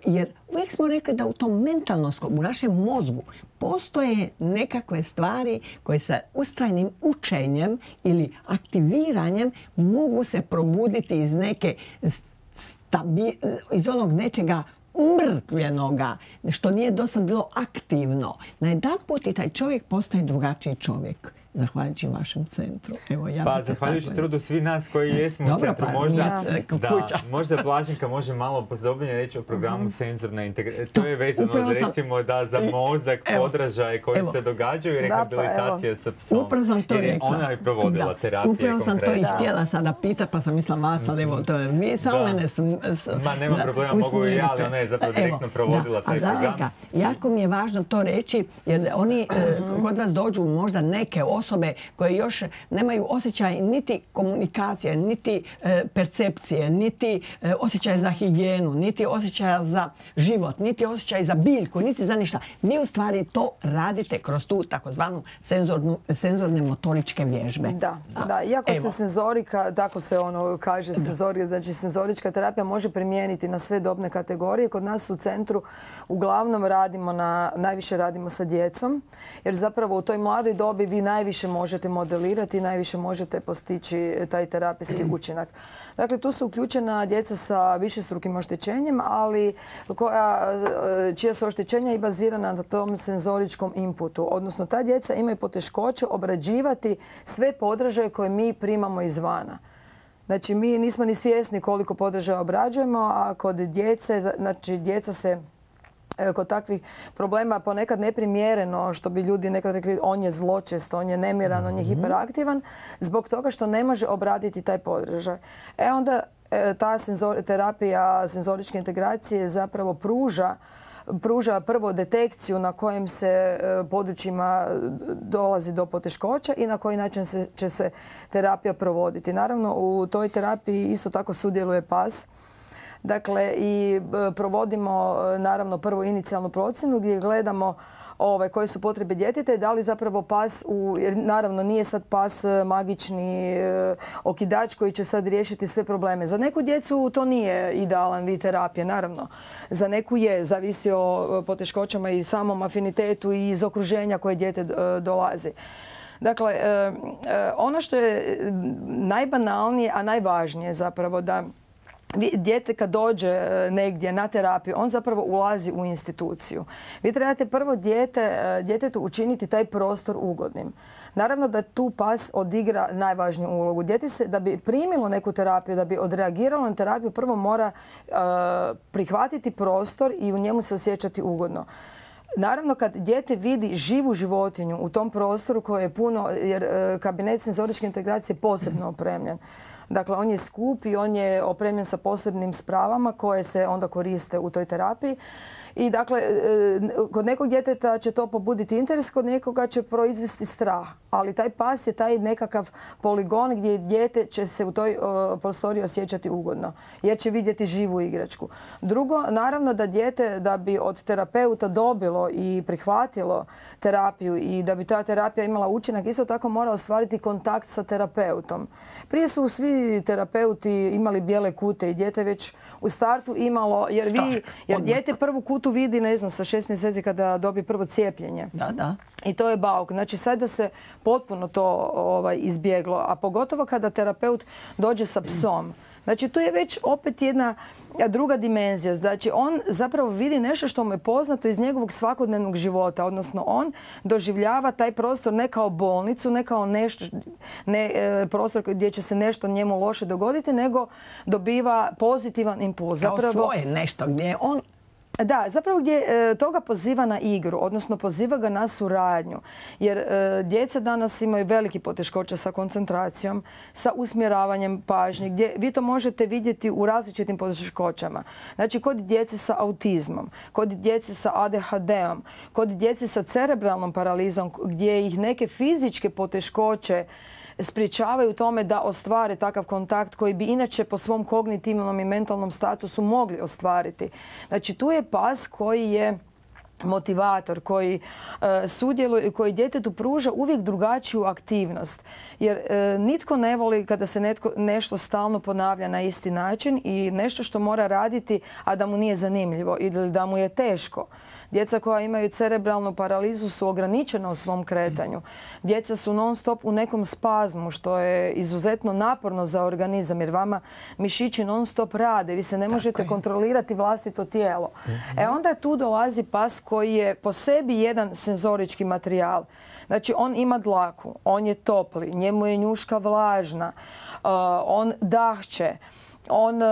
Jer uvijek smo rekli da u tom mentalnom, u našem mozgu postoje nekakve stvari koje sa ustrajnim učenjem ili aktiviranjem mogu se probuditi iz neke stabi, iz onog nečega mrtvljenoga, što nije do sad bilo aktivno. Na jedan put i taj čovjek postaje drugačiji čovjek. Zahvaljujući vašem centru. Evo, ja pa, zahvaljujući tako trudu svi nas koji jesmo Dobro, u centru. Pa, možda, da, možda Blaženka može malo podobnije reći o programu uh-huh. senzorne integracije. To je vezano za, recimo, da za mozak, evo, podražaje koji evo. se događaju i rehabilitacija da, pa, sa psom. Upravo sam to jer rekla. Ona je provodila da. terapije Upravo sam konkretno. to i htjela sada pitati, pa sam mislila vas, ali evo, to je vi samo da. mene... S, s, Ma, nema problema, mogu i ja, ali ona je zapravo direktno provodila da. taj program. Jako mi je važno to reći, jer oni kod vas dođu možda neke osobe osobe koje još nemaju osjećaj niti komunikacije, niti e, percepcije, niti e, osjećaj za higijenu, niti osjećaja za život, niti osjećaj za biljku, niti za ništa. Vi u stvari to radite kroz tu takozvanu senzornu, senzorne motoričke vježbe. Da, da. da. Iako Evo. se senzorika, tako se ono kaže, senzorika, znači senzorička terapija može primijeniti na sve dobne kategorije. Kod nas u centru uglavnom radimo na, najviše radimo sa djecom, jer zapravo u toj mladoj dobi vi najviše možete modelirati i najviše možete postići taj terapijski učinak. Dakle, tu su uključena djeca sa višestrukim oštećenjem, ali koja, čija su oštećenja i bazirana na tom senzoričkom inputu. Odnosno, ta djeca imaju poteškoće obrađivati sve podražaje koje mi primamo izvana. Znači, mi nismo ni svjesni koliko podražaja obrađujemo, a kod djece, znači djeca se kod takvih problema ponekad neprimjereno, što bi ljudi nekad rekli, on je zločest, on je nemiran, on je hiperaktivan, zbog toga što ne može obraditi taj podražaj. E onda ta senzor, terapija senzoričke integracije zapravo pruža pruža prvo detekciju na kojim se područjima dolazi do poteškoća i na koji način se, će se terapija provoditi. Naravno, u toj terapiji isto tako sudjeluje pas. Dakle, i provodimo naravno prvo inicijalnu procjenu gdje gledamo ove, koje su potrebe djeteta i da li zapravo pas, u, jer naravno nije sad pas magični e, okidač koji će sad riješiti sve probleme. Za neku djecu to nije idealan vid terapije, naravno. Za neku je, zavisi o poteškoćama i samom afinitetu i iz okruženja koje dijete e, dolazi. Dakle, e, e, ono što je najbanalnije, a najvažnije zapravo da dijete kad dođe negdje na terapiju, on zapravo ulazi u instituciju. Vi trebate prvo dijete, djetetu učiniti taj prostor ugodnim. Naravno da tu pas odigra najvažniju ulogu. Dijete se, da bi primilo neku terapiju, da bi odreagiralo na terapiju, prvo mora uh, prihvatiti prostor i u njemu se osjećati ugodno. Naravno, kad dijete vidi živu životinju u tom prostoru koje je puno, jer uh, kabinet senzoričke integracije je posebno opremljen. Dakle, on je skup i on je opremljen sa posebnim spravama koje se onda koriste u toj terapiji. I dakle, kod nekog djeteta će to pobuditi interes, kod nekoga će proizvesti strah. Ali taj pas je taj nekakav poligon gdje dijete će se u toj prostoriji osjećati ugodno, jer će vidjeti živu igračku. Drugo, naravno da dijete, da bi od terapeuta dobilo i prihvatilo terapiju i da bi ta terapija imala učinak, isto tako mora ostvariti kontakt sa terapeutom. Prije su svi terapeuti imali bijele kute i dijete već u startu imalo, jer vi, jer dijete prvu kutu vidi, ne znam, sa šest mjeseci kada dobije prvo cijepljenje. Da, da. I to je bauk. Znači, sad da se potpuno to ovaj, izbjeglo, a pogotovo kada terapeut dođe sa psom. Znači, tu je već opet jedna druga dimenzija. Znači, on zapravo vidi nešto što mu je poznato iz njegovog svakodnevnog života. Odnosno, on doživljava taj prostor ne kao bolnicu, ne kao nešto, ne, e, prostor gdje će se nešto njemu loše dogoditi, nego dobiva pozitivan impuls. Kao zapravo, svoje nešto gdje on... Da, zapravo gdje e, toga poziva na igru, odnosno poziva ga na suradnju. Jer e, djeca danas imaju veliki poteškoća sa koncentracijom, sa usmjeravanjem pažnje, gdje vi to možete vidjeti u različitim poteškoćama. Znači, kod djece sa autizmom, kod djece sa A D H D-om, kod djece sa cerebralnom paralizom, gdje ih neke fizičke poteškoće sprječavaju tome da ostvare takav kontakt koji bi inače po svom kognitivnom i mentalnom statusu mogli ostvariti. Znači, tu je pas koji je motivator, koji e, sudjeluje i koji djetetu pruža uvijek drugačiju aktivnost. Jer e, nitko ne voli kada se netko, nešto stalno ponavlja na isti način i nešto što mora raditi, a da mu nije zanimljivo ili da mu je teško. Djeca koja imaju cerebralnu paralizu su ograničena u svom kretanju. Djeca su non stop u nekom spazmu, što je izuzetno naporno za organizam, jer vama mišići non stop rade. Vi se ne možete kontrolirati vlastito tijelo. Mm-hmm. E onda tu dolazi pas koji je po sebi jedan senzorički materijal. Znači, on ima dlaku, on je topli, njemu je njuška vlažna, uh, on dahće. On e,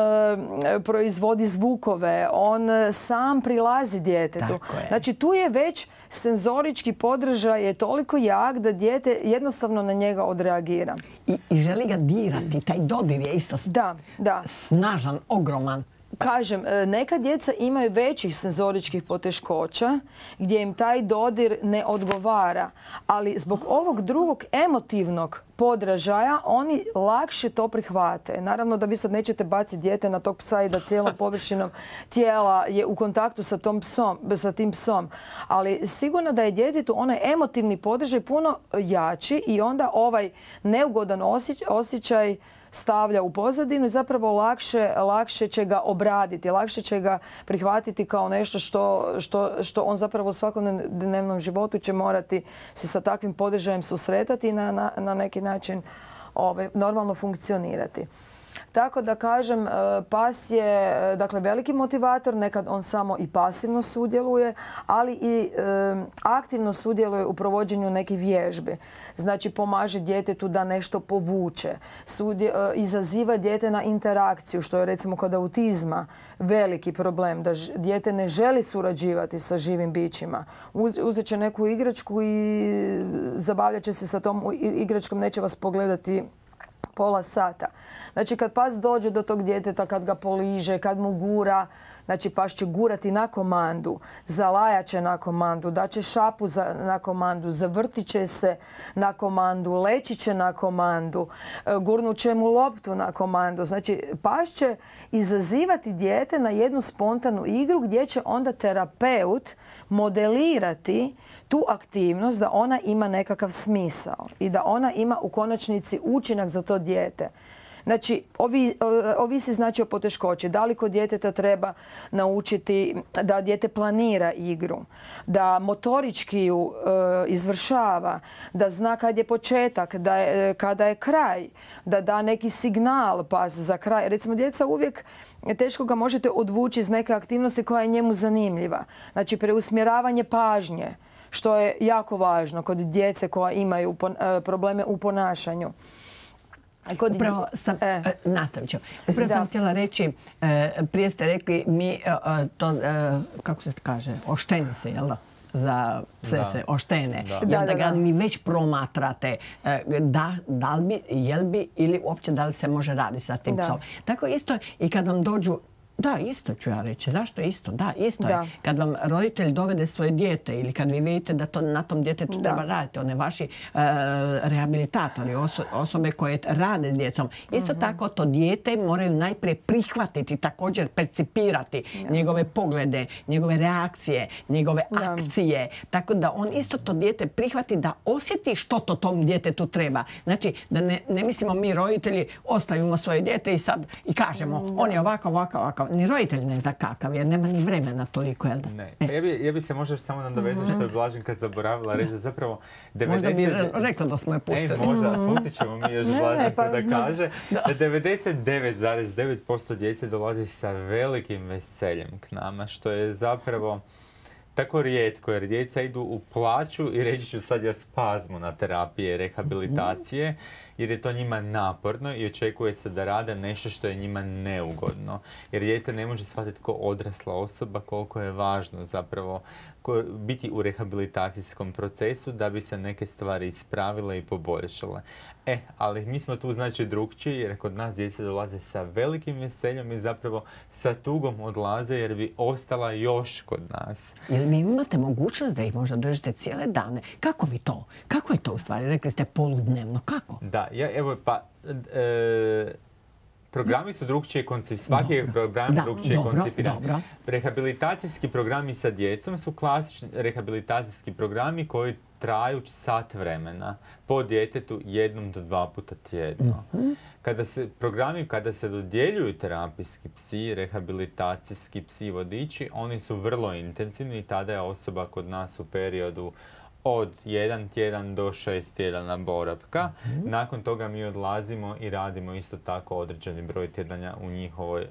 proizvodi zvukove, on sam prilazi djetetu. Znači, tu je već senzorički podržaj je toliko jak da dijete jednostavno na njega odreagira. I, i želi ga dirati. Taj dodir je isto da, da. snažan, ogroman. kažem, neka djeca imaju većih senzoričkih poteškoća gdje im taj dodir ne odgovara, ali zbog ovog drugog emotivnog podražaja oni lakše to prihvate. Naravno da vi sad nećete baciti dijete na tog psa i da cijelom površinom tijela je u kontaktu sa, tom psom, sa tim psom, ali sigurno da je djetetu onaj emotivni podražaj puno jači i onda ovaj neugodan osjećaj stavlja u pozadinu i zapravo lakše, lakše će ga obraditi, lakše će ga prihvatiti kao nešto što, što, što on zapravo u svakodnevnom životu će morati se sa takvim podržajem susretati i na, na, na neki način ovaj, normalno funkcionirati. Tako da kažem, pas je dakle, veliki motivator, nekad on samo i pasivno sudjeluje, ali i e, aktivno sudjeluje u provođenju nekih vježbi. Znači pomaže djetetu da nešto povuče, sudje, e, izaziva dijete na interakciju, što je recimo kod autizma veliki problem, da ž, dijete ne želi surađivati sa živim bićima. Uz, uzet će neku igračku i zabavljat će se sa tom igračkom, neće vas pogledati pola sata. Znači kad pas dođe do tog djeteta, kad ga poliže, kad mu gura, znači pas će gurati na komandu, zalajat će na komandu, daće šapu za, na komandu, zavrtit će se na komandu, leći će na komandu, gurnut će mu loptu na komandu. Znači pas će izazivati dijete na jednu spontanu igru gdje će onda terapeut modelirati tu aktivnost da ona ima nekakav smisao i da ona ima u konačnici učinak za to dijete. Znači, ovi, ovisi znači o poteškoći. Da li kod djeteta treba naučiti da dijete planira igru, da motorički ju e, izvršava, da zna kad je početak, da je, kada je kraj, da da neki signal pas za kraj. Recimo, djeca uvijek teško ga možete odvući iz neke aktivnosti koja je njemu zanimljiva. Znači, preusmjeravanje pažnje, što je jako važno kod djece koja imaju probleme u ponašanju. Kod... Upravo sam, e. nastavit ću. Upravo da. sam htjela reći, prije ste rekli mi to, kako se kaže, ošteni se, jel da? Za pse da. se oštene. Da. I onda da, da, ga da. mi već promatrate da, da li bi, jel bi ili uopće da li se može raditi sa tim da. psom. Tako isto i kad vam dođu. Da, isto ću ja reći. Zašto isto? Da, isto da. je. Kad vam roditelj dovede svoje dijete ili kad vi vidite da to na tom djetetu da. treba raditi, one vaši uh, rehabilitatori, oso osobe koje rade s djecom, isto mm-hmm. tako to dijete moraju najprije prihvatiti, također percipirati da. njegove poglede, njegove reakcije, njegove da. akcije. Tako da on isto to dijete prihvati da osjeti što to tom djetetu treba. Znači, da ne, ne mislimo mi roditelji ostavimo svoje dijete i sad i kažemo da. on je ovako, ovako, ovako. Ni roditelj ne zna kakav, jer nema ni vremena toliko, jel da? Ne. E. Ja, bi, ja bi se možda samo nadovezao što je Blaženka zaboravila reći da zapravo devedeset... Možda bi rekla da smo je pustili. E, možda, pustit ćemo mi još Blaženku pa, da kaže da, da devedeset devet zarez devet posto djece dolazi sa velikim veseljem k nama, što je zapravo tako rijetko, jer djeca idu u plaću i reći ću sad ja spazmu na terapije, rehabilitacije, jer je to njima naporno i očekuje se da rade nešto što je njima neugodno. Jer dijete ne može shvatiti kao odrasla osoba koliko je važno zapravo biti u rehabilitacijskom procesu da bi se neke stvari ispravile i poboljšale. E, ali mi smo tu znači drukčiji jer kod nas djeca dolaze sa velikim veseljem i zapravo sa tugom odlaze jer bi ostala još kod nas. Jel mi imate mogućnost da ih možda držite cijele dane? Kako vi to? Kako je to u stvari? Rekli ste poludnevno. Kako? Da, ja, evo pa... E, programi su drugčije koncipirani. Svaki je program drugčije koncipiran. Rehabilitacijski programi sa djecom su klasični rehabilitacijski programi koji traju sat vremena po djetetu jednom do dva puta tjedno. Mm-hmm. Kada se programi, kada se dodjeljuju terapijski psi, rehabilitacijski psi vodiči, oni su vrlo intenzivni i tada je osoba kod nas u periodu od jedan tjedan do šest tjedana boravka. Mm-hmm. Nakon toga mi odlazimo i radimo isto tako određeni broj tjedanja u njihovoj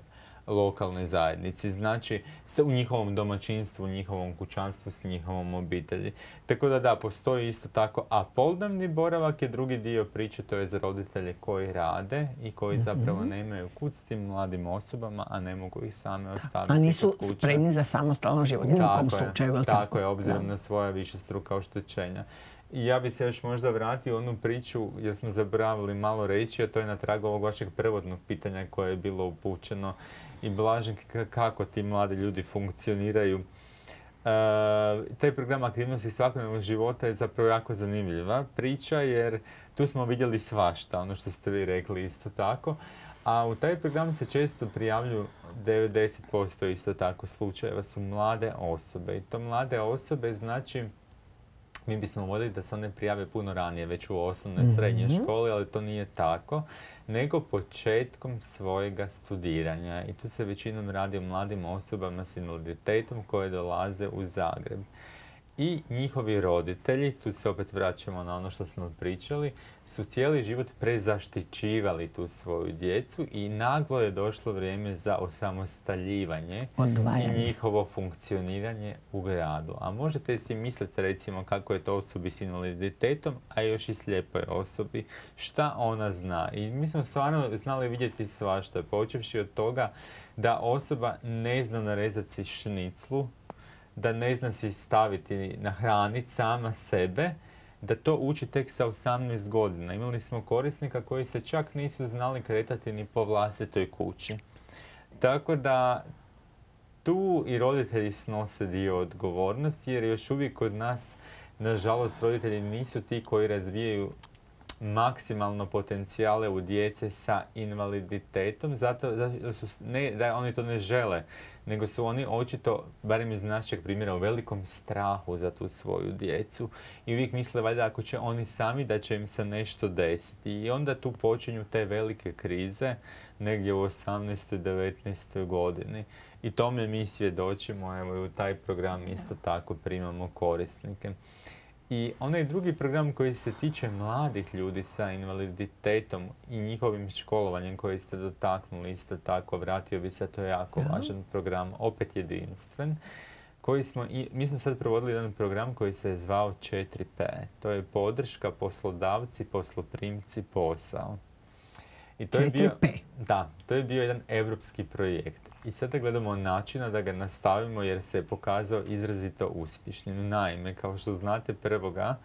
lokalnoj zajednici. Znači, u njihovom domaćinstvu, u njihovom kućanstvu, s njihovom obitelji. Tako da da, postoji isto tako. A poludnevni boravak je drugi dio priče, to je za roditelje koji rade i koji mm-hmm. zapravo nemaju kud s tim mladim osobama, a ne mogu ih same ostaviti. A nisu spremni za samostalan život, u nikom slučaju. Tako je, obzirom da. na svoja višestruka oštećenja. I ja bi se još možda vratio u onu priču, jer smo zaboravili malo reći, a to je na tragu ovog vašeg prvodnog pitanja koje je bilo upućeno. I Blaženke, kako ti mladi ljudi funkcioniraju. E, taj program aktivnosti svakodnevnog života je zapravo jako zanimljiva priča, jer tu smo vidjeli svašta, ono što ste vi rekli isto tako. A u taj program se često prijavljuju devedeset posto isto tako slučajeva su mlade osobe. I to mlade osobe znači mi bismo voljeli da se one prijave puno ranije, već u osnovnoj i srednjoj školi, ali to nije tako, nego početkom svojega studiranja. I tu se većinom radi o mladim osobama s invaliditetom koje dolaze u Zagreb. I njihovi roditelji, tu se opet vraćamo na ono što smo pričali, su cijeli život prezaštićivali tu svoju djecu i naglo je došlo vrijeme za osamostaljivanje Odvajanje. i njihovo funkcioniranje u gradu. A možete si misliti recimo kako je to osobi s invaliditetom, a još i slijepoj osobi, šta ona zna. I mi smo stvarno znali vidjeti svašta, počevši od toga da osoba ne zna narezati si šniclu, da ne zna si staviti na hranit sama sebe, da to uči tek sa osamnaest godina. Imali smo korisnika koji se čak nisu znali kretati ni po vlastitoj kući. Tako da tu i roditelji snose dio odgovornosti, jer još uvijek kod nas, nažalost, roditelji nisu ti koji razvijaju maksimalno potencijale u djece sa invaliditetom, zato da, su, ne, da oni to ne žele, nego su oni očito, barem iz našeg primjera, u velikom strahu za tu svoju djecu. I uvijek misle valjda ako će oni sami da će im se nešto desiti. I onda tu počinju te velike krize, negdje u osamnaestoj devetnaestoj godini. I tome mi svjedočimo, evo i u taj program isto tako primamo korisnike. I onaj drugi program koji se tiče mladih ljudi sa invaliditetom i njihovim školovanjem koji ste dotaknuli isto tako, vratio bi se, to je jako ja. važan program, opet jedinstven, koji smo, i, mi smo sad provodili jedan program koji se je zvao četiri P. To je podrška, poslodavci, posloprimci, posao. I to je bio, da, to je bio jedan europski projekt. I sada gledamo načina da ga nastavimo jer se je pokazao izrazito uspješnim. Naime, kao što znate, prvoga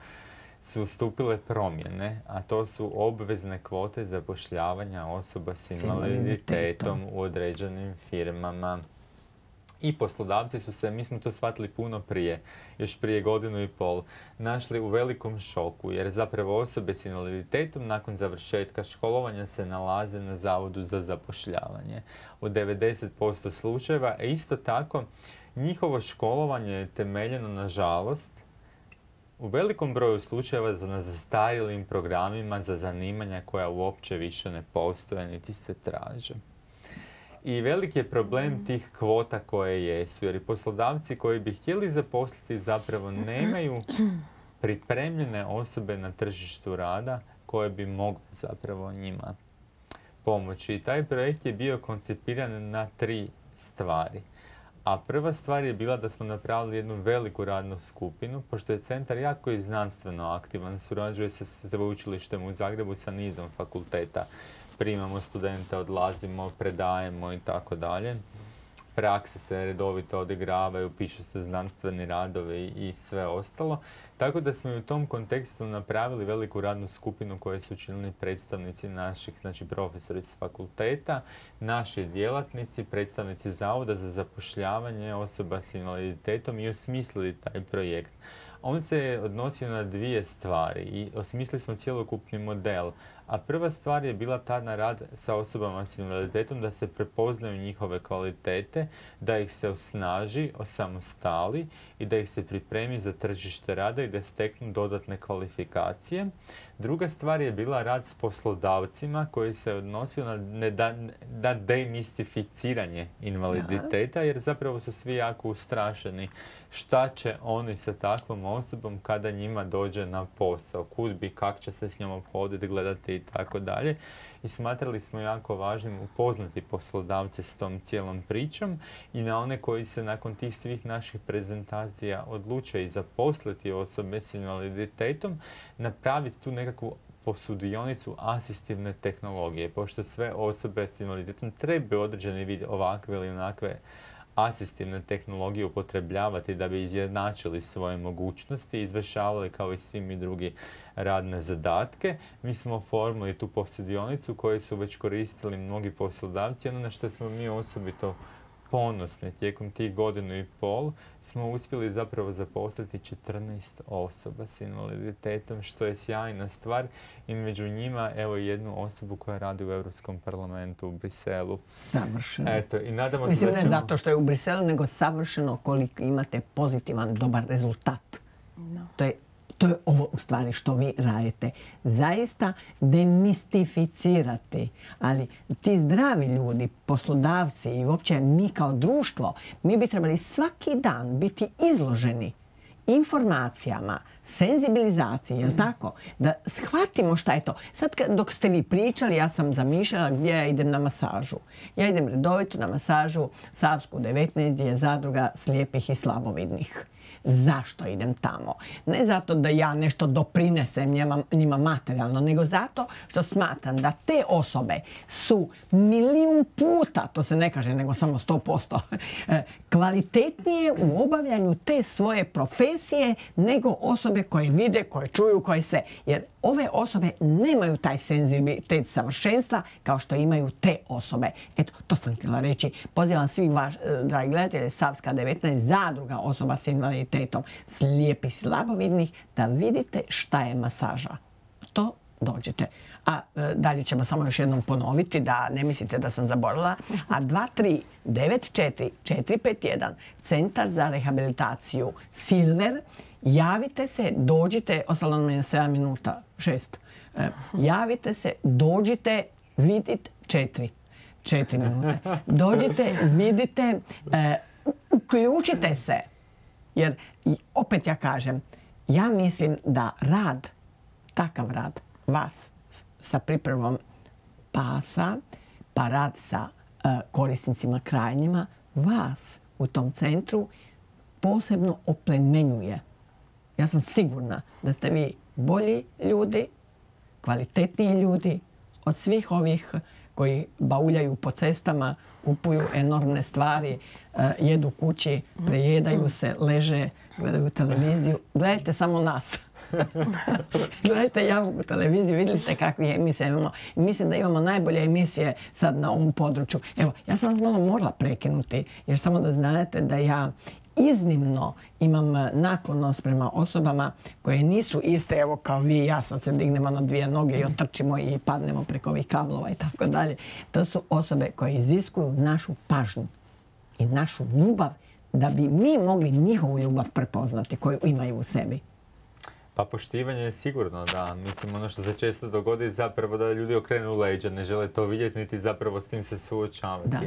su stupile promjene, a to su obvezne kvote zapošljavanja osoba s invaliditetom u određenim firmama. I poslodavci su se, mi smo to shvatili puno prije, još prije godinu i pol, našli u velikom šoku jer zapravo osobe s invaliditetom nakon završetka školovanja se nalaze na Zavodu za zapošljavanje u devedeset posto slučajeva. A isto tako, njihovo školovanje je temeljeno, nažalost, u velikom broju slučajeva na zastarjelim programima za zanimanja koja uopće više ne postoje niti se traže. I veliki je problem tih kvota koje jesu, jer i poslodavci koji bi htjeli zaposliti zapravo nemaju pripremljene osobe na tržištu rada koje bi mogle zapravo njima pomoći. I taj projekt je bio koncipiran na tri stvari. A prva stvar je bila da smo napravili jednu veliku radnu skupinu, pošto je centar jako i znanstveno aktivan, surađuje se s sveučilištem u Zagrebu sa nizom fakulteta. Primamo studente, odlazimo, predajemo i tako dalje. Prakse se redovito odigravaju, pišu se znanstveni radovi i sve ostalo. Tako da smo i u tom kontekstu napravili veliku radnu skupinu koju su činili predstavnici naših, znači profesori s fakulteta, naši djelatnici, predstavnici Zavoda za zapošljavanje osoba s invaliditetom i osmislili taj projekt. On se je odnosio na dvije stvari i osmislili smo cjelokupni model. A prva stvar je bila ta na rad sa osobama s invaliditetom, da se prepoznaju njihove kvalitete, da ih se osnaži, osamostali i da ih se pripremi za tržište rada i da steknu dodatne kvalifikacije. Druga stvar je bila rad s poslodavcima koji se odnosio na, ne, da, na demistificiranje invaliditeta, jer zapravo su svi jako ustrašeni šta će oni sa takvom osobom kada njima dođe na posao, kud bi, kak će se s njom obhoditi, gledati i tako dalje. I smatrali smo jako važnim upoznati poslodavce s tom cijelom pričom i na one koji se nakon tih svih naših prezentacija odluče i zaposliti osobe s invaliditetom, napraviti tu nekakvu posudionicu asistivne tehnologije, pošto sve osobe s invaliditetom trebaju određeni vid ovakve ili onakve asistivne tehnologije upotrebljavati da bi izjednačili svoje mogućnosti i izvršavali kao i svi mi drugi radne zadatke. Mi smo oformili tu posjedionicu koju su već koristili mnogi poslodavci. Ono na što smo mi osobito ponosni tijekom tih godinu i pol smo uspjeli zapravo zaposliti četrnaest osoba s invaliditetom, što je sjajna stvar, i među njima evo jednu osobu koja radi u Europskom parlamentu u Briselu. Savršeno. Eto, i nadamo se Mislim, da ne ćemo... zato što je u Briselu, nego savršeno koliko imate pozitivan, dobar rezultat. To je To je ovo u stvari što vi radite. Zaista demistificirati. Ali ti zdravi ljudi, poslodavci i uopće mi kao društvo, mi bi trebali svaki dan biti izloženi informacijama, senzibilizaciji, jel tako? Da shvatimo šta je to. Sad dok ste vi pričali, ja sam zamišljala gdje ja idem na masažu. Ja idem redovito na masažu Savsku devetnaest, gdje je zadruga slijepih i slabovidnih. Zašto idem tamo? Ne zato da ja nešto doprinesem njima, njima materijalno, nego zato što smatram da te osobe su milijun puta, to se ne kaže nego samo sto posto, kvalitetnije u obavljanju te svoje profesije nego osobe koje vide, koje čuju, koje sve. Jer ove osobe nemaju taj senzibilitet savršenstva kao što imaju te osobe. Eto, to sam htjela reći. Pozivam svih vaš, dragi gledatelji, Savska devetnaest, zadruga osoba s invaliditetom, slijepih i slabovidnih, da vidite šta je masaža. To dođete. A e, dalje ćemo samo još jednom ponoviti da ne mislite da sam zaboravila. A dva tri devet četiri četiri pet jedan, Centar za rehabilitaciju Silver. Javite se, dođite, ostalo nam je sedam minuta, šest. E, javite se, dođite, vidite, četiri. Četiri minute. Dođite, vidite, e, uključite se. Jer, opet ja kažem, ja mislim da rad, takav rad, vas sa pripremom pasa, pa rad sa e, korisnicima krajnjima, vas u tom centru posebno oplemenjuje. Ja sam sigurna da ste vi bolji ljudi, kvalitetniji ljudi od svih ovih koji bauljaju po cestama, kupuju enormne stvari, jedu kući, prejedaju se, leže, gledaju televiziju. Gledajte samo nas. Gledajte javnu televiziju, vidjeli ste kakve emisije imamo. Mislim da imamo najbolje emisije sad na ovom području. Evo, ja sam vas malo morala prekinuti, jer samo da znate da ja iznimno imam naklonost prema osobama koje nisu iste, evo kao vi i ja, sam se dignemo na dvije noge i otrčimo i padnemo preko ovih kablova i tako dalje. To su osobe koje iziskuju našu pažnju i našu ljubav da bi mi mogli njihovu ljubav prepoznati koju imaju u sebi. Pa poštivanje je sigurno, da. Mislim, ono što se često dogodi zapravo da ljudi okrenu leđa, ne žele to vidjeti niti zapravo s tim se suočavati. Da.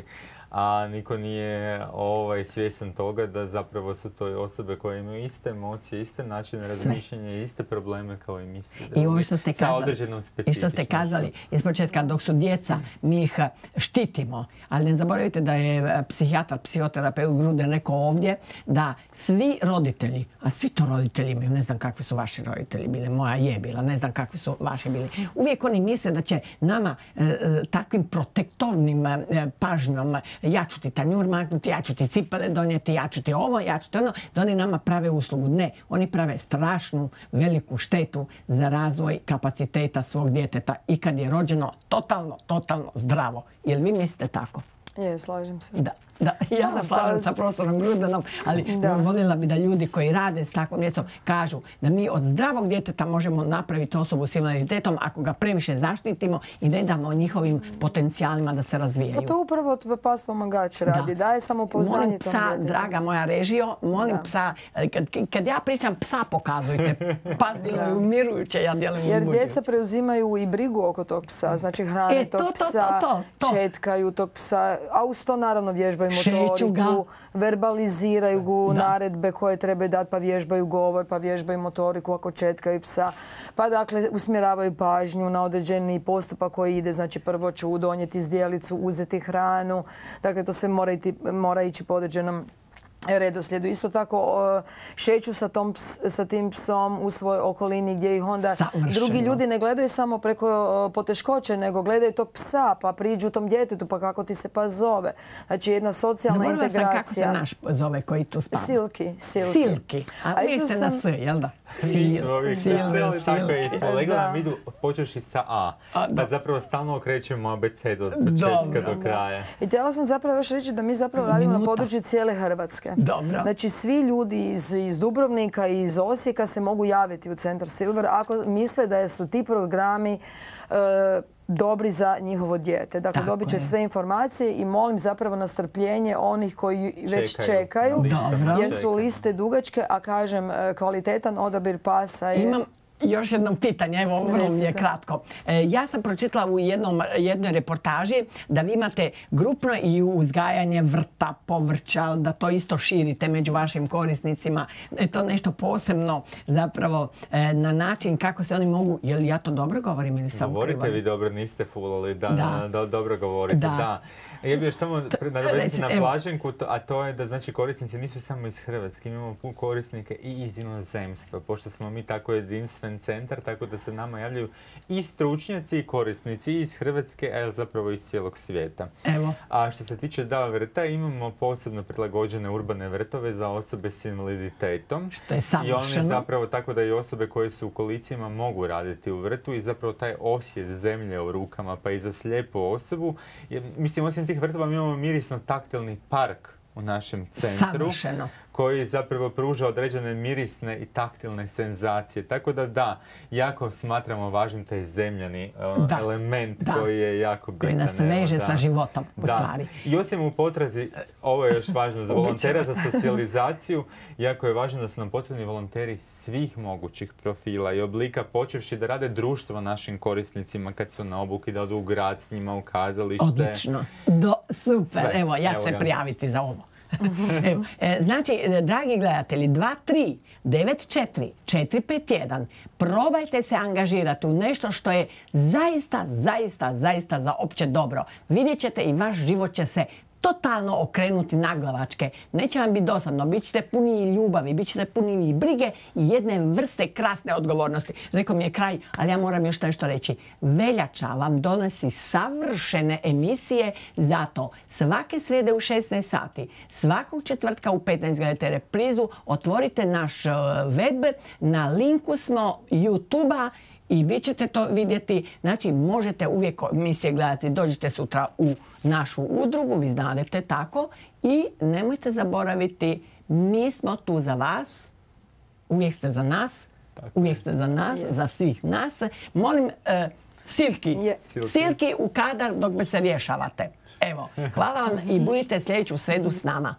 A niko nije ovaj, svjestan toga da zapravo su to osobe koje imaju iste emocije, iste načine razmišljanja, iste probleme kao i mi svi. I ovo što ste sa kazali, određenom i specifičnošću. što ste kazali iz početka, dok su djeca, mi ih štitimo. Ali ne zaboravite da je psihijatar, psihoterapeut Gruden rekao ovdje da svi roditelji, a svi to roditelji imaju, ne znam kakvi su vaši roditelji bili, moja je bila, ne znam kakvi su vaši bili. Uvijek oni misle da će nama e, takvim protektornim e, pažnjom ja ću ti tanjur maknuti, ja ću ti cipele donijeti, ja ću ti ovo, ja ću ti ono, da oni nama prave uslugu. Ne, oni prave strašnu, veliku štetu za razvoj kapaciteta svog djeteta i kad je rođeno totalno, totalno zdravo. Jel vi mislite tako? Je, slažem se. Da. Da, ja se slažem sa profesorom Grudenom, ali da. voljela bi da ljudi koji rade s takvom djecom kažu da mi od zdravog djeteta možemo napraviti osobu s invaliditetom ako ga previše zaštitimo i ne damo njihovim potencijalima da se razvijaju. Pa to upravo pas pomagač radi, da. daje samopouzdanje molim psa, tom djetetu. Draga moja režijo, molim da. psa, kad, kad ja pričam psa pokazujte, pas djeluje umirujuće, ja djelujem Jer uzbuđujuće. djeca preuzimaju i brigu oko tog psa, znači hrane e, tog to, to, psa, to, to, to. četkaju tog psa, a uz to naravno vježbaju Šeću motoriku, ga. verbaliziraju ga, Da. naredbe koje trebaju dati, pa vježbaju govor, pa vježbaju motoriku ako četkaju psa. Pa dakle usmjeravaju pažnju na određeni postupak koji ide, znači prvo ću donijeti zdjelicu, uzeti hranu. Dakle, to sve mora, iti, mora ići po određenom redoslijedu. Isto tako šeću sa, tom, sa tim psom u svojoj okolini gdje ih onda Savršeno. drugi ljudi ne gledaju samo preko poteškoće, nego gledaju tog psa, pa priđu tom djetetu, pa kako ti se pas zove. Znači jedna socijalna Zaboravila integracija. sam kako se naš zove koji tu spava. Silki. Silki. Silki. A, A vi ste sam... na S, jel da? Mi smo uvijek veseli, tako je ispod. Lego Da. nam idu počeši sa A, A, da. pa zapravo stalno okrećemo abecedu od početka Dobro. do kraja. I htjela sam zapravo još reći da mi zapravo radimo na Minuta. području cijele Hrvatske. Dobro. Znači svi ljudi iz, iz Dubrovnika i iz Osijeka se mogu javiti u Centar Silver ako misle da su ti programi e, dobri za njihovo dijete. Dakle, Tako dobit će je. sve informacije i molim zapravo na strpljenje onih koji već Čekaju. čekaju, Dobro. jer su liste dugačke, a kažem, e, kvalitetan odabir pasa je... Imam još jedno pitanje, evo vrlo mi je Recite. kratko. E, ja sam pročitala u jednom, jednoj reportaži da vi imate grupno i uzgajanje vrta, povrća, da to isto širite među vašim korisnicima. Je to nešto posebno zapravo e, na način kako se oni mogu, je li ja to dobro govorim ili sam Govorite krivo? vi dobro, niste fulali, da, Da. da, dobro govorite, Da. da. Ja bih još samo nadovezati se na evo. Blaženku, to- a to je da znači korisnici nisu samo iz Hrvatske, imamo puno korisnike i iz inozemstva, pošto smo mi tako jedinstven centar, tako da se nama javljaju i stručnjaci i korisnici i iz Hrvatske, a zapravo iz cijelog svijeta. Evo. A što se tiče da vrta, imamo posebno prilagođene urbane vrtove za osobe s invaliditetom. Što je I savršeno. one zapravo tako da i osobe koje su u kolicima mogu raditi u vrtu i zapravo taj osjet zemlje u rukama pa i za slijepu osobu. Je, mislim, osim tih vrtova mi imamo mirisno-taktilni park u našem centru. Savršeno. Koji zapravo pruža određene mirisne i taktilne senzacije. Tako da da, jako smatramo važnim taj zemljani uh, Da. element Da. koji je jako bitan. Koji nas evo, veže da. sa životom, u Da. stvari. I osim u potrazi, ovo je još važno za volontera, za socijalizaciju, jako je važno da su nam potrebni volonteri svih mogućih profila i oblika, počevši da rade društvo našim korisnicima kad su na obuki, da odu u grad s njima, u kazalište. Odlično. Do, super. Sve. Evo, ja ću Evo se ga. prijaviti za ovo. Evo, e, znači, e, dragi gledatelji, dva tri devet četiri četiri pet jedan, probajte se angažirati u nešto što je zaista, zaista, zaista za opće dobro. Vidjet ćete i vaš život će se totalno okrenuti naglavačke. Neće vam biti dosadno, bit ćete puni i ljubavi, bit ćete puni i brige i jedne vrste krasne odgovornosti. Rekao mi je kraj, ali ja moram još nešto reći. Veljača vam donosi savršene emisije, zato svake srijede u šesnaest sati, svakog četvrtka u petnaest gledajte reprizu, otvorite naš uh, web, na linku smo YouTube-a i vi ćete to vidjeti. Znači, možete uvijek emisije gledati. Dođite sutra u našu udrugu, vi znadete tako. I nemojte zaboraviti, mi smo tu za vas. Uvijek ste za nas. Uvijek ste za nas, za svih nas. Molim, e, Silki, Je. Silki u kadar dok me se rješavate. Evo, hvala vam i budite sljedeću sredu s nama.